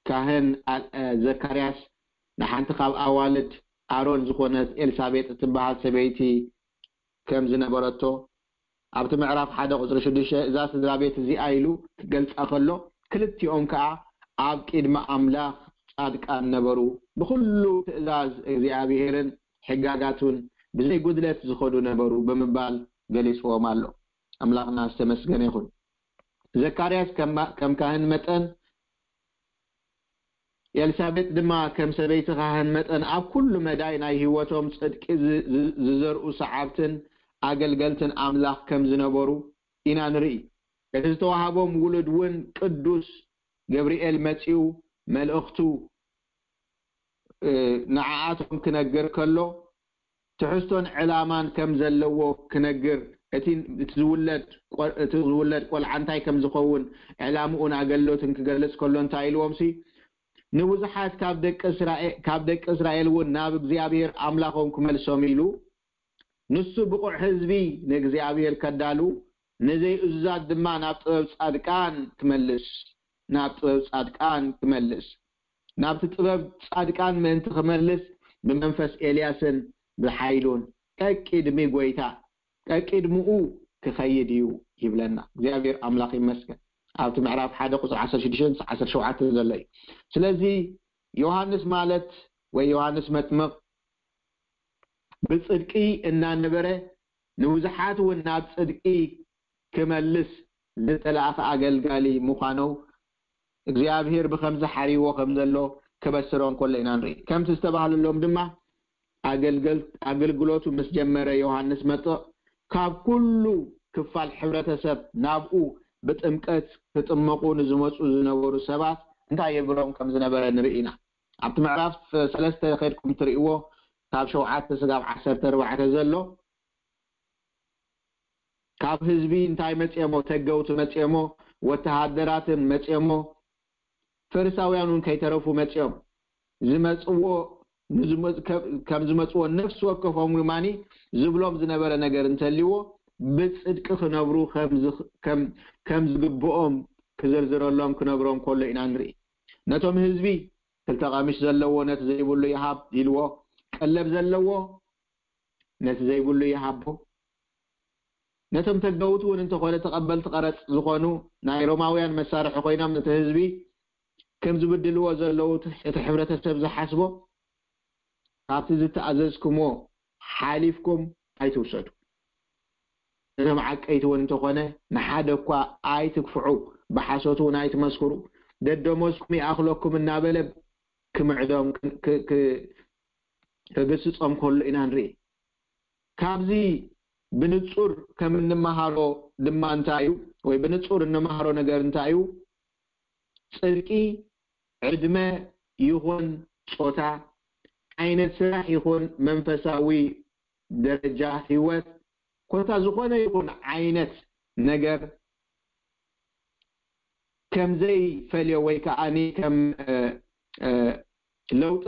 ካህን ኣ-፣ እ፣ ዘካርያስ ንሓንቲ ካብ ኣዋልድ ኣሮን ዝኾነት ኤልሳቤጥ እትበሃል ሰበይቲ ከም ዝነበረቶ ኣብቲ ምዕራፍ ሓደ ቁጽሪ ሽዱሽተ እዛ ስድራ ቤት እዚኣ ኢሉ ክገልጻ ከሎ፣ ክልቲኦም ከኣ ኣብ ቅድሚ ኣምላኽ ጻድቃን ነበሩ፣ ብኹሉ ትእዛዝ እግዚኣብሔርን ሕጋጋቱን ብዘይ ጉድለት ዝኸዱ ነበሩ ብምባል ገሊጽዎም ኣሎ። ኣምላኽና ዝተመስገነ ይኹን። ዘካርያስ ከም፣ ከም ካህን መጠን፣ ኤልሳቤጥ ድማ ከም ሰበይቲ ካህን መጠን ኣብ ኩሉ መዳይ ናይ ህይወቶም ጽድቂ ዝ-፣ ዝ-፣ ዝዘርኡ ሰዓብትን ኣገልገልትን ኣምላኽ ከም ዝነበሩ ኢና ንርኢ። እቲ ዝተዋህቦም ውሉድ እውን ቅዱስ ገብርኤል መጺኡ መልእኽቱ፣ እ፣ ንዓኣቶም ክነግር ከሎ፣ ትሕዝቶን ዕላማን ከም ዘለዎ ክነግር፣ እቲ፣ እቲ ዝውለድ ቆ-፣ እቲ ዝውለድ ቆልዓ እንታይ ከም ዝኸውን፣ ዕላምኡን ኣገልግሎትን ክገልጽ ከሎ እንታይ ኢልዎም ሲ፣ ንብዙሓት ካብ ደቂ እስራኤ-፣ ካብ ደቂ እስራኤል እውን ናብ እግዚኣብሔር ኣምላኾም ክመልሶም ኢሉ፣ ንሱ ብቑዕ ህዝቢ ንእግዚኣብሔር ከዳሉ፣ ንዘይእዙዛት ድማ ናብ ጥበብ ጻድቃን ክመልስ፣ ናብ ጥበብ ጻድቃን ክመልስ፣ ናብቲ ጥበብ ጻድቃን ምእንቲ ክመልስ ብመንፈስ ኤልያስን ብሓይሉን ቀቂድሚ ጎይታ፣ ቀቂድምኡ ክኸይድ እዩ ይብለና። እግዚኣብሔር ኣምላኽ ይመስገን። ኣብቲ ምዕራፍ ሓደ ቁጽሪ ዓሰርተ ሽዱሽተ ዓሰርተ ሸውዓተ ዘሎ እዩ። ስለዚ ዮሃንስ ማለት ወይ ዮሃንስ መጥምቕ ብጽድቂ እናነበረ ንብዙሓት እውን ናብ ጽድቂ ክመልስ ዝተላእኸ ኣገልጋሊ ምዃኑ እግዚኣብሔር ብኸምዚ ሓሪዎ ከም ዘሎ ክበስሮ እንከሎ ኢና ንርኢ። ከምቲ ዝተባህለሎም ድማ ኣገልገል-፣ ኣገልግሎቱ ምስ ጀመረ ዮሃንስ መጥምቕ ካብ ኩሉ ክፋል ሕብረተሰብ ናብኡ ብጥምቀት ክጥመቑ ንዝመጹ ዝነበሩ ሰባት እንታይ የብሎም ከም ዝነበረ ንርኢ ኢና። ኣብቲ ምዕራፍ ሰለስተ ከድኩም ትርእይዎ ካብ ሸውዓተ ስጋብ ዓሰርተ ኣርባዕተ ዘሎ ካብ ህዝቢ እንታይ መፅኦሞ? ተገውቲ መፅኦሞ፣ ወተሃደራትን መፅኦሞ፣ ፈሪሳውያን እውን ከይተረፉ መፅኦም። ዝመፅዎ ንዝመ- ከ- ከም ዝመፅዎ ነፍሲ ወከፎም ውማኒ ዝብሎም ዝነበረ ነገር እንተልዎ ብፅድቂ ክነብሩ ከም ዝኽ- ከም ከም ዝግብኦም ክዝርዝረሎም ክነግሮም ከሎ ኢና ንርኢ። ነቶም ህዝቢ ክልተ ቀሚሽ ዘለዎ ነቲ ዘይብሉ ይሃብ ኢልዎ፣ ቀለብ ዘለዎ ነቲ ዘይብሉ ይሃቦ። ነቶም ተገውቲ እውን እንተኾነ ተቐበልቲ ቀረጽ ዝኾኑ ናይ ሮማውያን መሳርሒ ኮይኖም ነቲ ህዝቢ ከም ዝብድልዎ ዘለዉ እቲ ሕብረተሰብ ዝሓስቦ ካብቲ ዝተኣዘዝኩሞ ሓሊፍኩም ኣይትውሰዱ። ነቶም ዓቀይቲ እውን እንተኾነ ንሓደ እኳ ኣይትግፍዑ፣ ብሓሶት እውን ኣይትመስክሩ፣ ደደሞዝኩም ይኣኽለኩም እናበለ ክምዕዶም ክ- ክ- ክግስጾም ከሎ ኢና ንርኢ። ካብዚ ብንጹር ከም እንመሃሮ ድማ እንታይ እዩ ወይ ብንጹር እንመሃሮ ነገር እንታይ እዩ? ጽድቂ ዕድመ ይኹን ጾታ፣ ዓይነት ስራሕ ይኹን መንፈሳዊ ደረጃ ህይወት፣ ኮታ ዝኾነ ይኹን ዓይነት ነገር ከም ዘይፈልዮ ወይ ከዓኒ ከም ለውጢ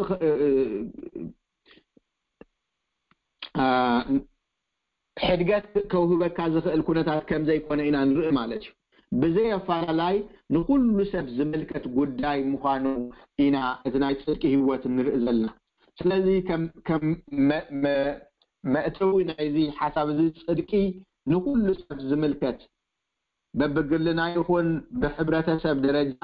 ሕድገት ከውህበካ ዝኽእል ኩነታት ከም ዘይኮነ ኢና ንርኢ ማለት እዩ። ብዘይ ኣፋላላይ ንኩሉ ሰብ ዝምልከት ጉዳይ ምዃኑ ኢና እቲ ናይ ጽድቂ ህይወት ንርኢ ዘለና። ስለዚ ከም መእተዊ ናይዚ ሓሳብ እዚ ጽድቂ ንኩሉ ሰብ ዝምልከት በብግልና ይኹን ብሕብረተሰብ ደረጃ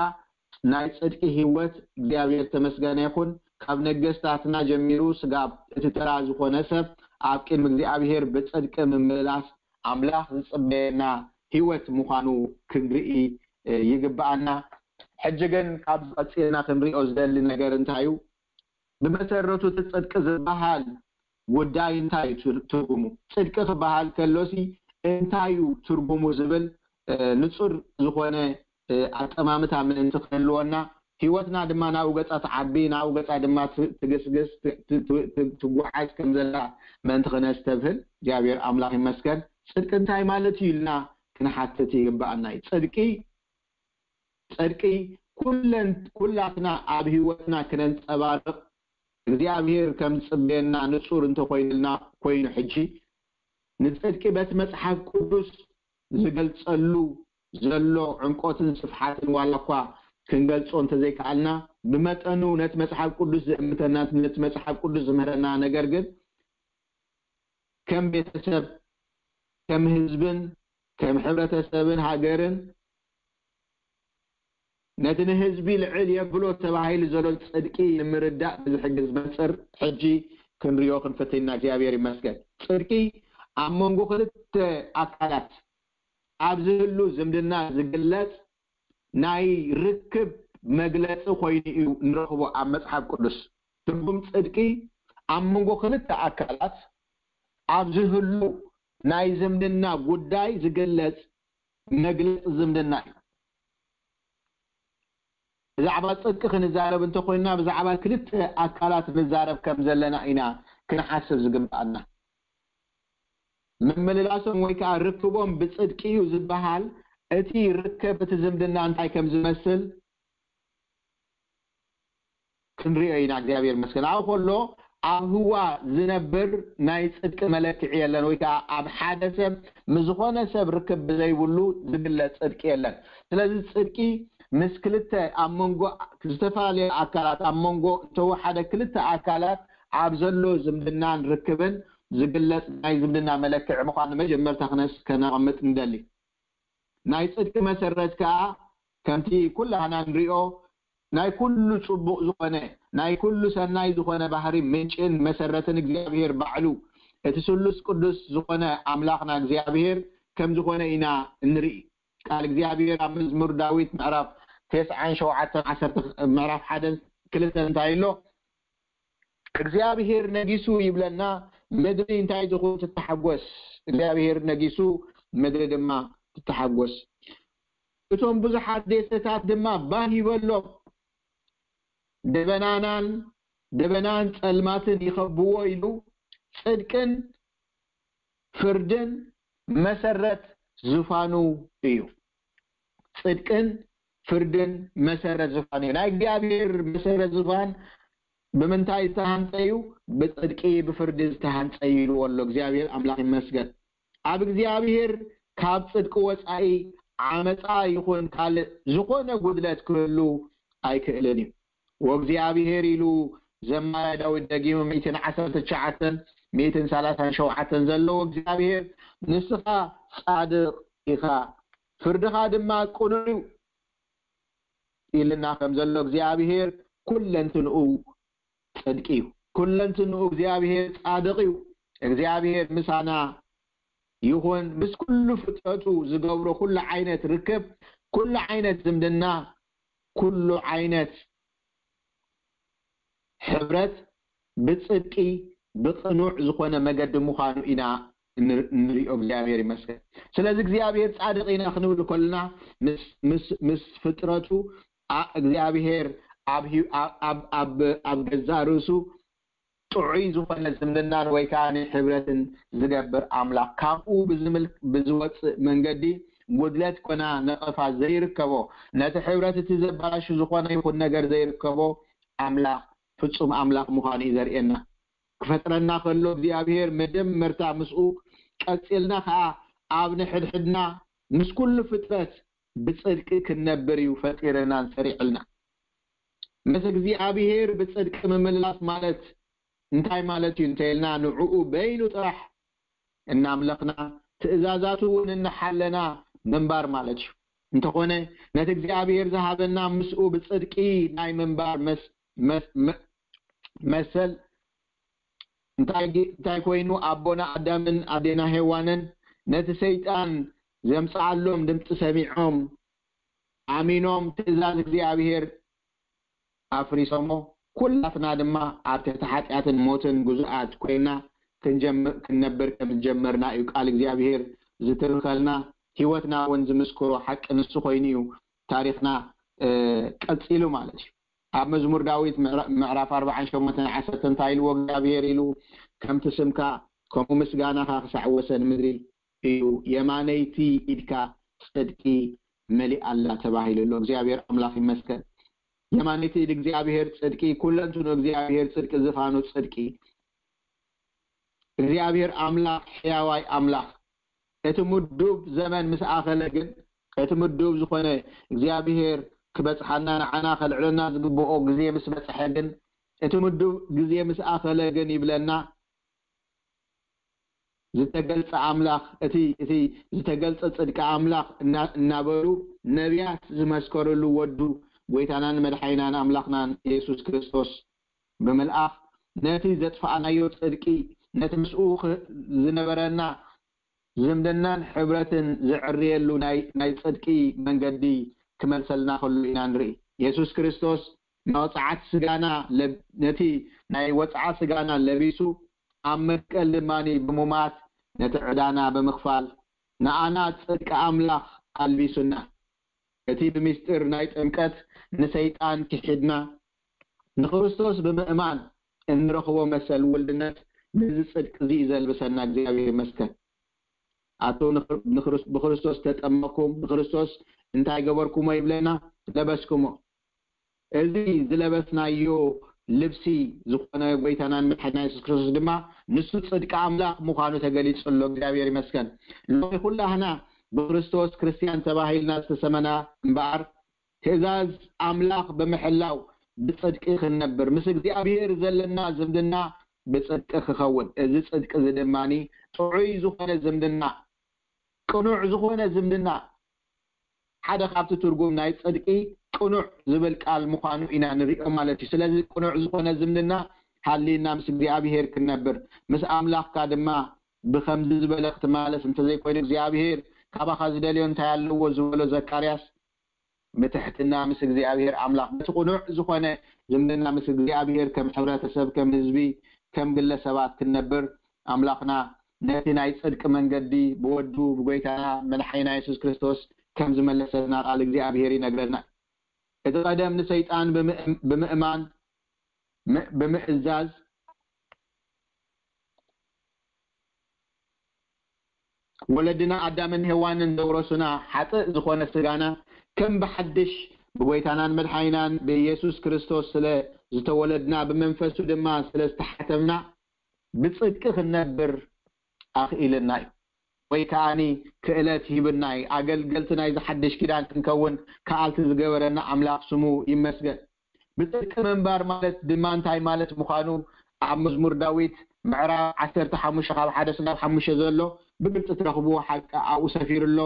ናይ ጽድቂ ህይወት እግዚኣብሔር ተመስገነ ይኹን። ካብ ነገስታትና ጀሚሩ ስጋብ እቲ ተራ ዝኾነ ሰብ ኣብ ቅድሚ እግዚኣብሔር ብጽድቂ ምምልላስ ኣምላኽ ዝጽበየና ህይወት ምዃኑ ክንርኢ ይግብኣና። ሕጂ ግን ካብ ዝቐጽልና ክንሪኦ ዝደሊ ነገር እንታይ እዩ? ብመሰረቱ እቲ ጽድቂ ዝበሃል ጉዳይ እንታይ እዩ ትርጉሙ? ጽድቂ ክበሃል ከሎሲ እንታይ እዩ ትርጉሙ ዝብል ንጹር ዝኾነ ኣጠማምታ ምእንቲ ክህልወና፣ ህይወትና ድማ ናብኡ ገጻ ትዓቢ፣ ናብኡ ገጻ ድማ ትግስግስ፣ ትጓዓዝ ከም ዘላ ምእንቲ ክነስተብህል እግዚኣብሔር ኣምላኽ ይመስገን። ጽድቂ እንታይ ማለት እዩ ኢልና ክንሓትት ይግብኣና እዩ። ጽድቂ ጽድቂ ኩለን ኩላትና ኣብ ህይወትና ክነንጸባርቕ እግዚኣብሔር ከም ዝጽበየና ንጹር እንተኾይኑልና ኮይኑ፣ ሕጂ ንጽድቂ በቲ መጽሓፍ ቅዱስ ዝገልጸሉ ዘሎ ዕምቆትን ስፍሓትን ዋላ እኳ ክንገልጾ እንተዘይከኣልና፣ ብመጠኑ ነቲ መጽሓፍ ቅዱስ ዝእምተና፣ ነቲ መጽሓፍ ቅዱስ ዝምህረና ነገር ግን ከም ቤተሰብ፣ ከም ህዝብን ከም ሕብረተሰብን ሃገርን ነቲ ንህዝቢ ልዕል የብሎ ተባሂሉ ዘሎ ጽድቂ ንምርዳእ ብዝሕግዝ መንጽር ሕጂ ክንሪኦ ክንፍትን ኢና። እግዚኣብሔር ይመስገን። ጽድቂ ኣብ መንጎ ክልተ ኣካላት ኣብ ዝህሉ ዝምድና ዝግለጽ ናይ ርክብ መግለጺ ኮይኑ እዩ ንረኽቦ ኣብ መጽሓፍ ቅዱስ። ትርጉም ጽድቂ ኣብ መንጎ ክልተ ኣካላት ኣብ ዝህሉ ናይ ዝምድና ጉዳይ ዝግለጽ መግለጺ ዝምድና እዩ። ብዛዕባ ጽድቂ ክንዛረብ እንተኾይንና ብዛዕባ ክልተ ኣካላት ንዛረብ ከም ዘለና ኢና ክንሓስብ ዝግብኣና። ምምልላሶም ወይ ከዓ ርክቦም ብጽድቂ እዩ ዝበሃል እቲ ርከብ እቲ ዝምድና እንታይ ከም ዝመስል ክንሪኦ ኢና። እግዚኣብሔር ይመስገን። ኣብኡ ከሎ ኣብ ህዋ ዝነብር ናይ ጽድቂ መለክዒ የለን፣ ወይ ከዓ ኣብ ሓደ ሰብ ምስ ዝኾነ ሰብ ርክብ ብዘይብሉ ዝግለጽ ጽድቂ የለን። ስለዚ ጽድቂ ምስ ክልተ ኣብ መንጎ ዝተፈላለዩ ኣካላት ኣብ መንጎ ዝተወሓደ ክልተ ኣካላት ኣብ ዘሎ ዝምድናን ርክብን ዝግለጽ ናይ ዝምድና መለክዒ ምዃኑ መጀመርታ ክነስ ከነቐምጥ ንደሊ። ናይ ጽድቂ መሰረት ከኣ ከምቲ ኩላህና ንሪኦ ናይ ኩሉ ጽቡቕ ዝኾነ ናይ ኩሉ ሰናይ ዝኾነ ባህሪ ምንጭን መሰረትን እግዚኣብሔር ባዕሉ እቲ ስሉስ ቅዱስ ዝኾነ ኣምላኽና እግዚኣብሔር ከም ዝኾነ ኢና እንርኢ። ቃል እግዚኣብሔር ኣብ መዝሙር ዳዊት ምዕራፍ ተስዓን ሸውዓተን ዓሰርተ ምዕራፍ ሓደን ክልተን እንታይ ኣሎ? እግዚኣብሔር ነጊሱ ይብለና፣ ምድሪ እንታይ ትኹን ትተሓጎስ። እግዚኣብሔር ነጊሱ ምድሪ ድማ ትተሓጎስ። እቶም ብዙሓት ደሴታት ድማ ባህ ይበሎም። ደበናናን ደበናን ጸልማትን ይኸብዎ ኢሉ፣ ጽድቅን ፍርድን መሰረት ዝፋኑ እዩ። ጽድቅን ፍርድን መሰረት ዝፋኑ እዩ። ናይ እግዚኣብሔር መሰረት ዝፋን ብምንታይ ዝተሃንጸ እዩ? ብጽድቂ ብፍርዲ ዝተሃንጸ እዩ ኢልዎ ኣሎ። እግዚኣብሔር ኣምላኽ ይመስገን። ኣብ እግዚኣብሔር ካብ ጽድቂ ወጻኢ ዓመጻ ይኹን ካልእ ዝኾነ ጉድለት ክህሉ ኣይክእልን እዩ። ወእግዚኣብሔር ኢሉ ዘማሪ ዳዊት ደጊሙ ሚእትን ዓሰርተ ትሽዓተን ሚእትን ሰላሳን ሸውዓተን ዘለዎ እግዚኣብሔር ንስኻ ጻድቕ ኢኻ፣ ፍርድኻ ድማ ቅኑዕ እዩ ኢልና ከም ዘሎ እግዚኣብሔር ኩለንትንኡ ጽድቂ እዩ። ኩለንትንኡ እግዚኣብሔር ጻድቕ እዩ። እግዚኣብሔር ምሳና ይኹን ምስ ኩሉ ፍጥረቱ ዝገብሮ ኩሉ ዓይነት ርክብ፣ ኩሉ ዓይነት ዝምድና፣ ኩሉ ዓይነት ሕብረት ብጽድቂ ብቕኑዕ ዝኾነ መገዲ ምዃኑ ኢና እንር- እንሪኦ። እግዚኣብሔር ይመስገን። ስለዚ እግዚኣብሔር ጻድቕ ኢና ክንብል ከለና ምስ- ምስ- ምስ ፍጥረቱ ኣ- እግዚኣብሔር ኣብ ህዩ- ኣብ- ኣብ- ኣብ- ኣብ ገዛ ርእሱ ጥዑይ ዝኾነ ዝምድናን ወይ ከዓ ሕብረትን ዝገብር ኣምላኽ፣ ካብኡ ብዝምል- ብዝወፅእ መንገዲ ጉድለት ኮና ነቐፋ ዘይርከቦ፣ ነቲ ሕብረት እቲ ዘባላሹ ዝኾነ ይኹን ነገር ዘይርከቦ ኣምላኽ ፍጹም ኣምላኽ ምዃኑ እዩ ዘርእየና። ክፈጥረና ከሎ እግዚኣብሔር መጀመርታ ምስኡ፣ ቀጺልና ከዓ ኣብ ንሕድሕድና ምስ ኩሉ ፍጥረት ብጽድቂ ክንነብር እዩ ፈጢርናን ሰሪዕልና። ምስ እግዚኣብሔር ብጽድቂ ምምላስ ማለት እንታይ ማለት እዩ እንተኢልና፣ ንዕኡ በይኑ ጥራሕ እናምለኽና ትእዛዛቱ እውን እናሓለና ምንባር ማለት እዩ። እንተኾነ ነቲ እግዚኣብሔር ዝሃበና ምስኡ ብጽድቂ ናይ ምንባር መስ- መስ- መ- መሰል እንታይ ጌ- እንታይ ኮይኑ፣ ኣቦና ኣዳምን ኣዴና ሄዋንን ነቲ ሰይጣን ዘምጽኣሎም ድምፂ ሰሚዖም ኣሚኖም ትእዛዝ እግዚኣብሔር ኣፍሪሶሞ፣ ኩላትና ድማ ኣብ ትሕቲ ሓጢኣትን ሞትን ግዙኣት ኮይና ክንጀምር- ክንነብር ከም ዝጀመርና እዩ ቃል እግዚኣብሔር ዝትርኸልና። ህይወትና እውን ዝምስክሮ ሓቂ ንሱ ኮይኑ እዩ ታሪኽና ቀፂሉ ማለት እዩ። ኣብ መዝሙር ዳዊት ምዕራፍ ኣርባዓን ሸሞንተን ዓሰርተ እንታይ ኢልዎ እግዚኣብሔር ኢሉ፣ ከምቲ ስምካ ከምኡ ምስጋናኻ ክሳዕ ወሰን ምድሪ እዩ፣ የማነይቲ ኢድካ ጽድቂ መሊኣ ኣላ ተባሂሉ ኣሎ። እግዚኣብሔር ኣምላኽ ይመስገን። የማነይቲ ኢድ እግዚኣብሔር ጽድቂ፣ ኩለንትኑ እግዚኣብሔር ጽድቂ፣ ዝፋኑ ጽድቂ። እግዚኣብሔር ኣምላኽ ሕያዋይ ኣምላኽ። እቲ ምዱብ ዘመን ምስ ኣኸለ ግን፣ እቲ ምዱብ ዝኾነ እግዚኣብሔር ክበጽሓና ንዓና ከልዕለና ዝግብኦ ግዜ ምስ በጽሐ ግን፣ እቲ ምዱብ ግዜ ምስ ኣኸለ ግን ይብለና፣ ዝተገልጸ ኣምላኽ፣ እቲ እቲ ዝተገልጸ ጽድቂ ኣምላኽ እና- እናበሉ ነቢያት ዝመስከርሉ ወዱ ጎይታናን መድሓኒናን ኣምላኽናን የሱስ ክርስቶስ ብምልኣኽ፣ ነቲ ዘጥፋእናዮ ጽድቂ፣ ነቲ ምስኡ ኽ- ዝነበረና ዝምድናን ሕብረትን ዝዕርየሉ ናይ ናይ ጽድቂ መንገዲ ክመልሰልና ከሎ ኢና ንርኢ። የሱስ ክርስቶስ ናይ ወጽዓት ስጋና ለብ- ነቲ ናይ ወጽዓ ስጋና ለቢሱ ኣብ መስቀል ድማ ብሙማት ነቲ ዕዳና ብምኽፋል ንኣና ጽድቂ ኣምላኽ ኣልቢሱና። እቲ ብምስጢር ናይ ጥምቀት ንሰይጣን ክሒድና ንክርስቶስ ብምእማን እንረኽቦ መሰል ውልድነት ነዚ ጽድቂ እዚ እዩ ዘልብሰና። እግዚኣብሔር ይመስገን። ኣቶ ንክር- ንክርስ- ብክርስቶስ ተጠመኩም፣ ብክርስቶስ እንታይ ገበርኩሞ ይብለና? ለበስኩሞ። እዚ ዝለበስናዮ ልብሲ ዝኾነ ጎይታናን መድሓኒና የሱስ ክርስቶስ ድማ ንሱ ጽድቂ ኣምላኽ ምዃኑ ተገሊጹ ኣሎ። እግዚኣብሔር ይመስገን። ሎሚ ኩላህና ብክርስቶስ ክርስትያን ተባሂልና ዝተሰመና እምበኣር ትእዛዝ ኣምላኽ ብምሕላው ብጽድቂ ክንነብር፣ ምስ እግዚኣብሔር ዘለና ዝምድና ብጽድቂ ክኸውን፣ እዚ ጽድቂ እዚ ድማ ጥዑይ ዝኾነ ዝምድና፣ ቅኑዕ ዝኾነ ዝምድና፣ ሓደ ካብቲ ትርጉም ናይ ጽድቂ ቅኑዕ ዝብል ቃል ምዃኑ ኢና ንሪኦ ማለት እዩ። ስለዚ ቅኑዕ ዝኾነ ዝምድና ሃልይና ምስ እግዚኣብሔር ክንነብር፣ ምስ ኣምላኽካ ድማ ብኸምዚ ዝበለ ክትመላለስ እንተዘይኮይኑ እግዚኣብሔር ካባኻ ዝደልዮ እንታይ ኣለዎ ዝበሎ ዘካርያስ ብትሕትና ምስ እግዚኣብሔር ኣምላኽ በቲ ቅኑዕ ዝኾነ ዝምድና ምስ እግዚኣብሔር ከም ሕብረተሰብ፣ ከም ህዝቢ፣ ከም ግለሰባት ክንነብር ኣምላኽና ነቲ ናይ ጽድቂ መንገዲ ብወዱ ብጎይታና መድሓኒና የሱስ ክርስቶስ ከም ዝመለሰልና ቃል እግዚኣብሔር ይነግረና። እቲ ቀደም ንሰይጣን ብምእም- ብምእማን ም- ብምእዛዝ ወለድና ኣዳምን ሄዋንን ዘውረሱና ሓጥእ ዝኾነ ስጋና ከም ብሓድሽ ብጎይታናን መድሓኒናን ብኢየሱስ ክርስቶስ ስለ ዝተወለድና ብመንፈሱ ድማ ስለ ዝተሓተምና ብጽድቂ ክንነብር ኣኽኢልና እዩ። ወይ ከዓኒ ክእለት ሂብና እዩ። ኣገልገልቲ ናይ ዝሓድሽ ኪዳን ክንከውን ከኣልቲ ዝገበረና ኣምላኽ ስሙ ይመስገን። ብጽድቂ ምንባር ማለት ድማ እንታይ ማለት ምዃኑ ኣብ መዝሙር ዳዊት ምዕራፍ ዓሰርተ ሓሙሽተ ካብ ሓደ ስጋብ ሓሙሽተ ዘሎ ብግልጺ ትረኽብዎ ሓቂ ኣብኡ ሰፊሩ ኣሎ።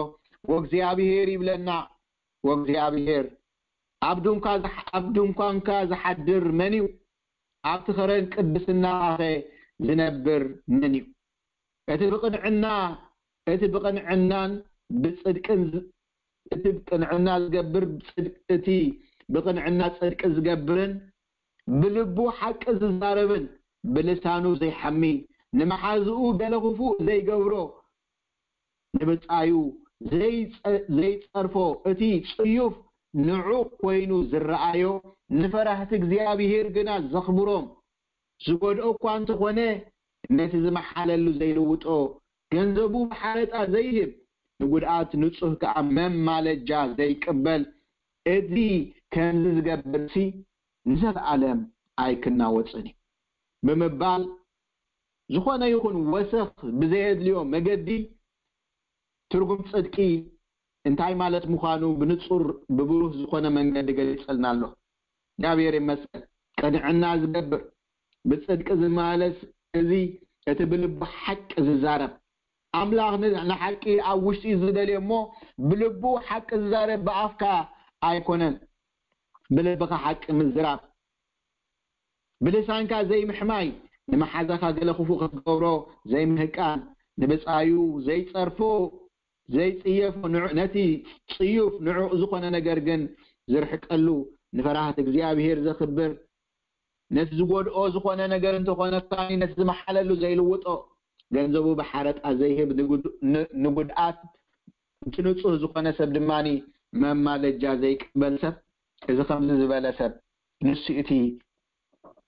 ወእግዚኣብሔር ይብለና፣ ወእግዚኣብሔር ኣብ ድንኳ ዝሓ- ኣብ ድንኳንካ ዝሓድር መን እዩ? ኣብቲ ኸረን ቅድስናኸ ዝነብር መን እዩ? እቲ ብቕንዕና እቲ ብቕንዕናን ብጽድቅን ዝ- እቲ ብቅንዕና ዝገብር ብጽድቅ እቲ ብቅንዕና ጽድቂ ዝገብርን ብልቡ ሓቂ ዝዛረብን ብልሳኑ ዘይሓሚ ንመሓዝኡ ገለ ክፉእ ዘይገብሮ ንብጻዩ ዘይጸ- ዘይጸርፎ እቲ ጽዩፍ ንዑቕ ኮይኑ ዝረኣዮ ንፈራህቲ እግዚኣብሔር ግና ዘኽብሮም ዝጎድኦ እኳ እንተኾነ ነቲ ዝመሓለሉ ዘይልውጦ ገንዘቡ ብሓረጣ ዘይህብ ንጉድኣት ንጹህ ከኣ መማለጃ ዘይቅበል እዚ ከምዚ ዝገብርሲ ንዘለኣለም ኣይክናወጽን እዩ ብምባል ዝኾነ ይኹን ወሰኽ ብዘየድልዮ መገዲ ትርጉም ጽድቂ እንታይ ማለት ምዃኑ ብንጹር ብብሩህ ዝኾነ መንገዲ ገሊጸልና ኣሎ። እግዚኣብሔር ይመስገን። ቅንዕና ዝገብር ብጽድቂ ዝመላለስ እዚ እቲ ብልቡ ሓቂ ዝዛረብ ኣምላኽ ን- ንሓቂ ኣብ ውሽጢ ዝደልዮ እሞ ብልቡ ሓቂ ዝዛረብ ብኣፍካ ኣይኮነን ብልብኻ ሓቂ ምዝራብ ብልሳንካ ዘይምሕማይ ንመሓዛኻ ገለ ክፉእ ክትገብሮ ዘይምህቃን ንብጻዩ ዘይጸርፎ ዘይጽየፎ ንዑ- ነቲ ጽዩፍ ንዑቕ ዝኾነ ነገር ግን ዝርሕቀሉ ንፈራህቲ እግዚኣብሔር ዘኽብር ነቲ ዝጎድኦ ዝኾነ ነገር እንተኾነ ከኣ ነቲ ዝመሓለሉ ዘይልውጦ ገንዘቡ ብሓረጣ ዘይህብ ንጉድ- ን- ንጉድኣት እቲ ንጹህ ዝኾነ ሰብ ድማ መማለጃ ዘይቅበል ሰብ እዚ ከምዚ ዝበለ ሰብ ንሱ እቲ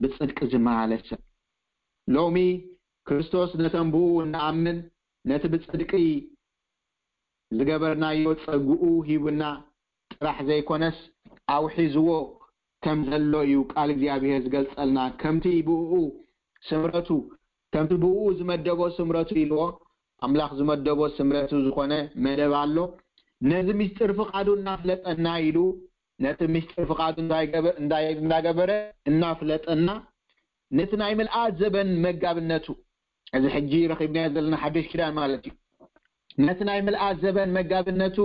ብጽድቂ ዝመላለስ ሰብ ሎሚ ክርስቶስ ነተን ብኡ እንኣምን ነቲ ብጽድቂ ዝገበርናዮ ጸግኡ ሂቡና ጥራሕ ዘይኮነስ ኣውሒዝዎ ከም ዘሎ እዩ ቃል እግዚኣብሔር ዝገልጸልና ከምቲ ብኡ ስምረቱ ከምቲ ብኡ ዝመደቦ ስምረቱ ኢልዎ ኣምላኽ ዝመደቦ ስምረቱ ዝኾነ መደብ ኣሎ ነዚ ምስጢር ፍቓዱ እናፍለጠና ኢሉ ነቲ ምስጢር ፍቓዱ እንዳይገበ- እንዳይ- እንዳገበረ እናፍለጠና ነቲ ናይ ምልኣት ዘበን መጋብነቱ እዚ ሕጂ ረኺብናዮ ዘለና ሓድሽ ኪዳን ማለት እዩ ነቲ ናይ ምልኣት ዘበን መጋብነቱ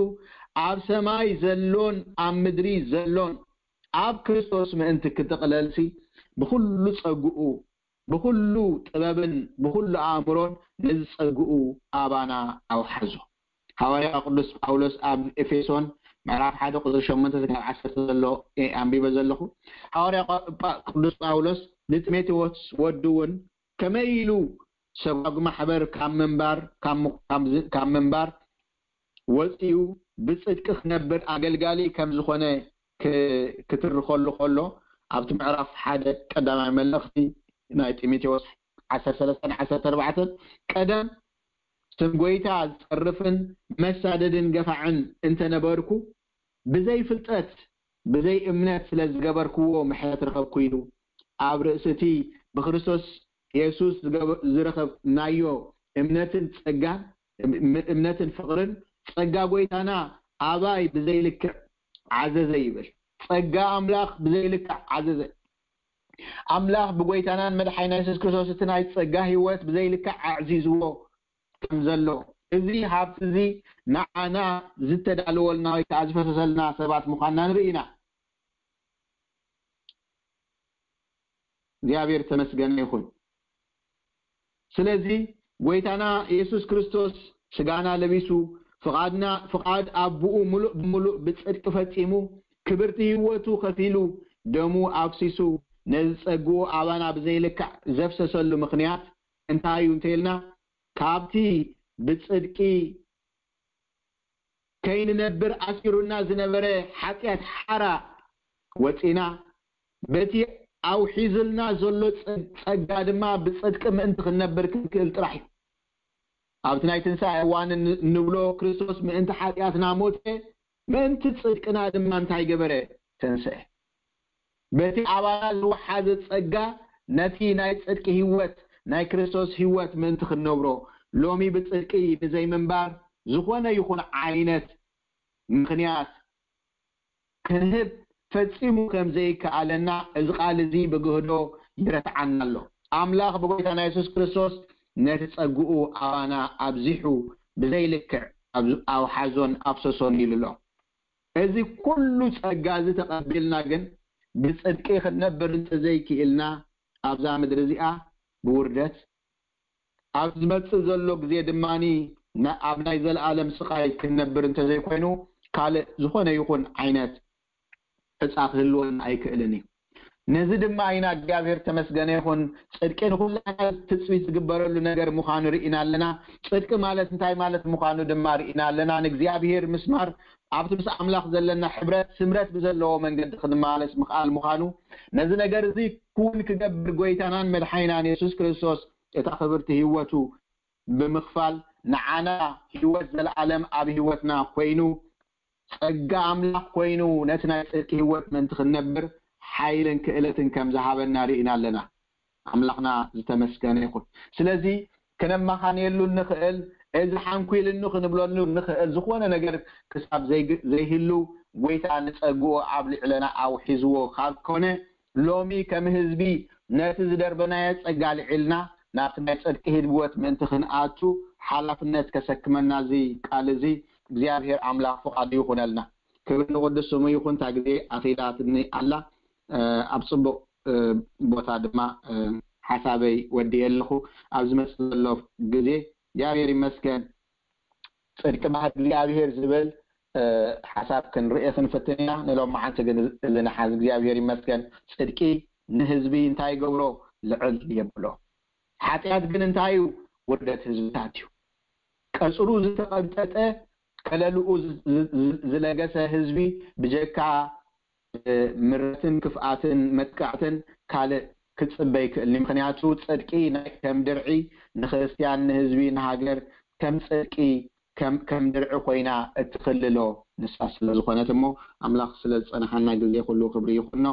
ኣብ ሰማይ ዘሎን ኣብ ምድሪ ዘሎን ኣብ ክርስቶስ ምእንቲ ክጥቕለልሲ ብኹሉ ጸግኡ ብኹሉ ጥበብን ብኹሉ ኣእምሮን ነዚ ጸግኡ ኣባና ኣውሓዞ። ሃዋርያ ቅዱስ ጳውሎስ ኣብ ኤፌሶን ምዕራፍ ሓደ ቁፅሪ ሸሞንተ ክሳብ ዓሰርተ ዘሎ እየ ኣንቢበ ዘለኹ። ሃዋርያ ጳ- ቅዱስ ጳውሎስ ንጢሞቴዎስ ወዱ እውን ከመይ ኢሉ ሰጓግ ማሕበር ካብ ምንባር ካብ ም- ካብ ዝ- ካብ ምንባር ወፂኡ ብፅድቂ ክነብር ኣገልጋሊ ከም ዝኾነ ክ- ክትርኸሉ ከሎ ኣብቲ ምዕራፍ ሓደ ቀዳማይ መልእኽቲ ናይ ጢሞቴዎስ ዓሰርተ ሰለስተ ዓሰርተ ኣርባዕተ ቀደም ስም ጎይታ ዝጸርፍን መሳደድን ገፋዕን እንተነበርኩ ብዘይ ፍልጠት ብዘይ እምነት ስለ ዝገበርክዎ ምሕረት ረኸብኩ ኢሉ ኣብ ርእሲ እቲ ብክርስቶስ የሱስ ዝገበ- ዝረኸብናዮ እምነትን ጸጋን እም- እምነትን ፍቕርን ጸጋ ጎይታና ኣባይ ብዘይ ልክዕ ዓዘዘ ይብል። ጸጋ ኣምላኽ ብዘይ ልክዕ ዓዘዘ። ኣምላኽ ብጎይታናን መድሓኒና የሱስ ክርስቶስ እቲ ናይ ጸጋ ህይወት ብዘይ ልክዕ ኣዕዚዝዎ ከም ዘሎ እዚ ሃብቲ እዚ ንዓና ዝተዳለወልና ወይ ከዓ ዝፈሰሰልና ሰባት ምዃንና ንርኢ ኢና። እግዚኣብሔር ተመስገነ ይኹን። ስለዚ ጎይታና የሱስ ክርስቶስ ስጋና ለቢሱ ፍቓድና ፍቓድ ኣቦኡ ሙሉእ ብሙሉእ ብጽድቂ ፈጺሙ ክብርቲ ህይወቱ ከፊሉ ደሙ ኣፍሲሱ ነዚ ጸግኡ ኣባና ብዘይልክዕ ዘፍሰሰሉ ምኽንያት እንታይ እዩ እንተኢልና ካብቲ ብጽድቂ ከይንነብር ኣሲሩና ዝነበረ ሓጢኣት ሓራ ወጺና በቲ ኣውሒዝልና ዘሎ ጸ- ጸጋ ድማ ብጽድቂ ምእንቲ ክንነብር ክንክእል ጥራሕ እዩ። ኣብቲ ናይ ትንሳኤ እዋን ን- እንብሎ ክርስቶስ ምእንቲ ሓጢኣትና ሞተ፣ ምእንቲ ጽድቅና ድማ እንታይ ገበረ? ተንስአ። በቲ ኣባና ዝወሓዘ ጸጋ ነቲ ናይ ጽድቂ ህይወት ናይ ክርስቶስ ህይወት ምእንቲ ክንነብሮ ሎሚ ብጽድቂ ንዘይምንባር ዝኾነ ይኹን ዓይነት ምኽንያት ክንህብ ፈጺሙ ከም ዘይከኣለና እዚ ቃል እዚ ብግህዶ ይረትዓና ኣሎ። ኣምላኽ ብጎይታና የሱስ ክርስቶስ ነቲ ጸግኡ ኣባና ኣብዚሑ ብዘይልክዕ ኣብ- ኣውሓዞን ኣፍሰሶን ኢሉ ኣሎ። እዚ ኩሉ ጸጋ እዚ ተቐቢልና ግን ብጽድቂ ክንነብር እንተዘይክኢልና ኣብዛ ምድሪ እዚኣ ብውርደት ኣብ ዝመጽእ ዘሎ ግዜ ድማ ኣብ ናይ ዘለኣለም ስቓይ ክንነብር እንተዘይኮይኑ ካልእ ዝኾነ ይኹን ዓይነት ዕፃ ክህልወና ኣይክእልን እዩ። ነዚ ድማ ኢና እግዚኣብሔር ተመስገነ ይኹን ጽድቂ ንኹላና ትጽቢት ዝግበረሉ ነገር ምዃኑ ርኢና ኣለና። ጽድቂ ማለት እንታይ ማለት ምዃኑ ድማ ርኢና ኣለና። ንእግዚኣብሔር ምስማር ኣብቲ ምስ ኣምላኽ ዘለና ሕብረት ስምረት ብዘለዎ መንገዲ ክንመላለስ ምኽኣል ምዃኑ ነዚ ነገር እዚ ክውን ክገብር ጎይታናን መድሓይናን የሱስ ክርስቶስ እታ ክብርቲ ህይወቱ ብምኽፋል ንዓና ህይወት ዘለኣለም ኣብ ህይወትና ኮይኑ ጸጋ ኣምላኽ ኮይኑ ነቲ ናይ ጽድቂ ህይወት ምእንቲ ክንነብር ሓይልን ክእለትን ከም ዝሃበና ርኢና ኣለና። ኣምላኽና ዝተመስገነ ይኹን። ስለዚ ክነማኻንየሉ እንኽእል እዚ ሓንኩልኒ ክንብለሉ እንኽእል ዝኾነ ነገር ክሳብ ዘይግ- ዘይህሉ ጎይታ ንጸግኡ ኣብ ልዕለና ኣውሒዝዎ ካብ ኮነ ሎሚ ከም ህዝቢ ነቲ ዝደርበናዮ ጸጋ ልዒልና ናብቲ ናይ ጽድቂ ህይወት ምእንቲ ክንኣቱ ሓላፍነት ከሰክመና እዚ ቃል እዚ እግዚኣብሔር ኣምላኽ ፍቓዱ ይኹነልና። ክብሪ ንቕዱስ ስሙ ይኹን። እታ ግዜ ኣኺላትኒ ኣላ። ኣብ ጽቡቕ ቦታ ድማ ሓሳበይ ወዲየ ኣለኹ። ኣብ ዝመጽእ ዘሎ ግዜ እግዚኣብሔር ይመስገን። ጽድቂ ባህሪ እግዚኣብሔር ዝብል ሓሳብ ክንርኢ ክንፍትን ኢና። ንሎም መዓልቲ ግን እዚ ንሓዝ እግዚኣብሔር ይመስገን። ጽድቂ ንህዝቢ እንታይ ይገብሮ? ልዕል የብሎ። ሓጢኣት ግን እንታይ እዩ? ውርደት ህዝብታት እዩ። ቀጽሩ ዝተቐብጠጠ ከለልኡ ዝለገሰ ህዝቢ ብጀካ ምረትን ክፍኣትን መጥቃዕትን ካልእ ክጽበ ይክእልኒ። ምክንያቱ ጽድቂ ናይ ከም ድርዒ ንክርስትያን ንህዝቢ ንሃገር ከም ጽድቂ ከም ከም ድርዒ ኮይና እትክልሎ ንሳ ስለ ዝኾነት እሞ ኣምላኽ ስለ ዝጸንሓና ግዜ ኩሉ ክብሪ ይኹኖ።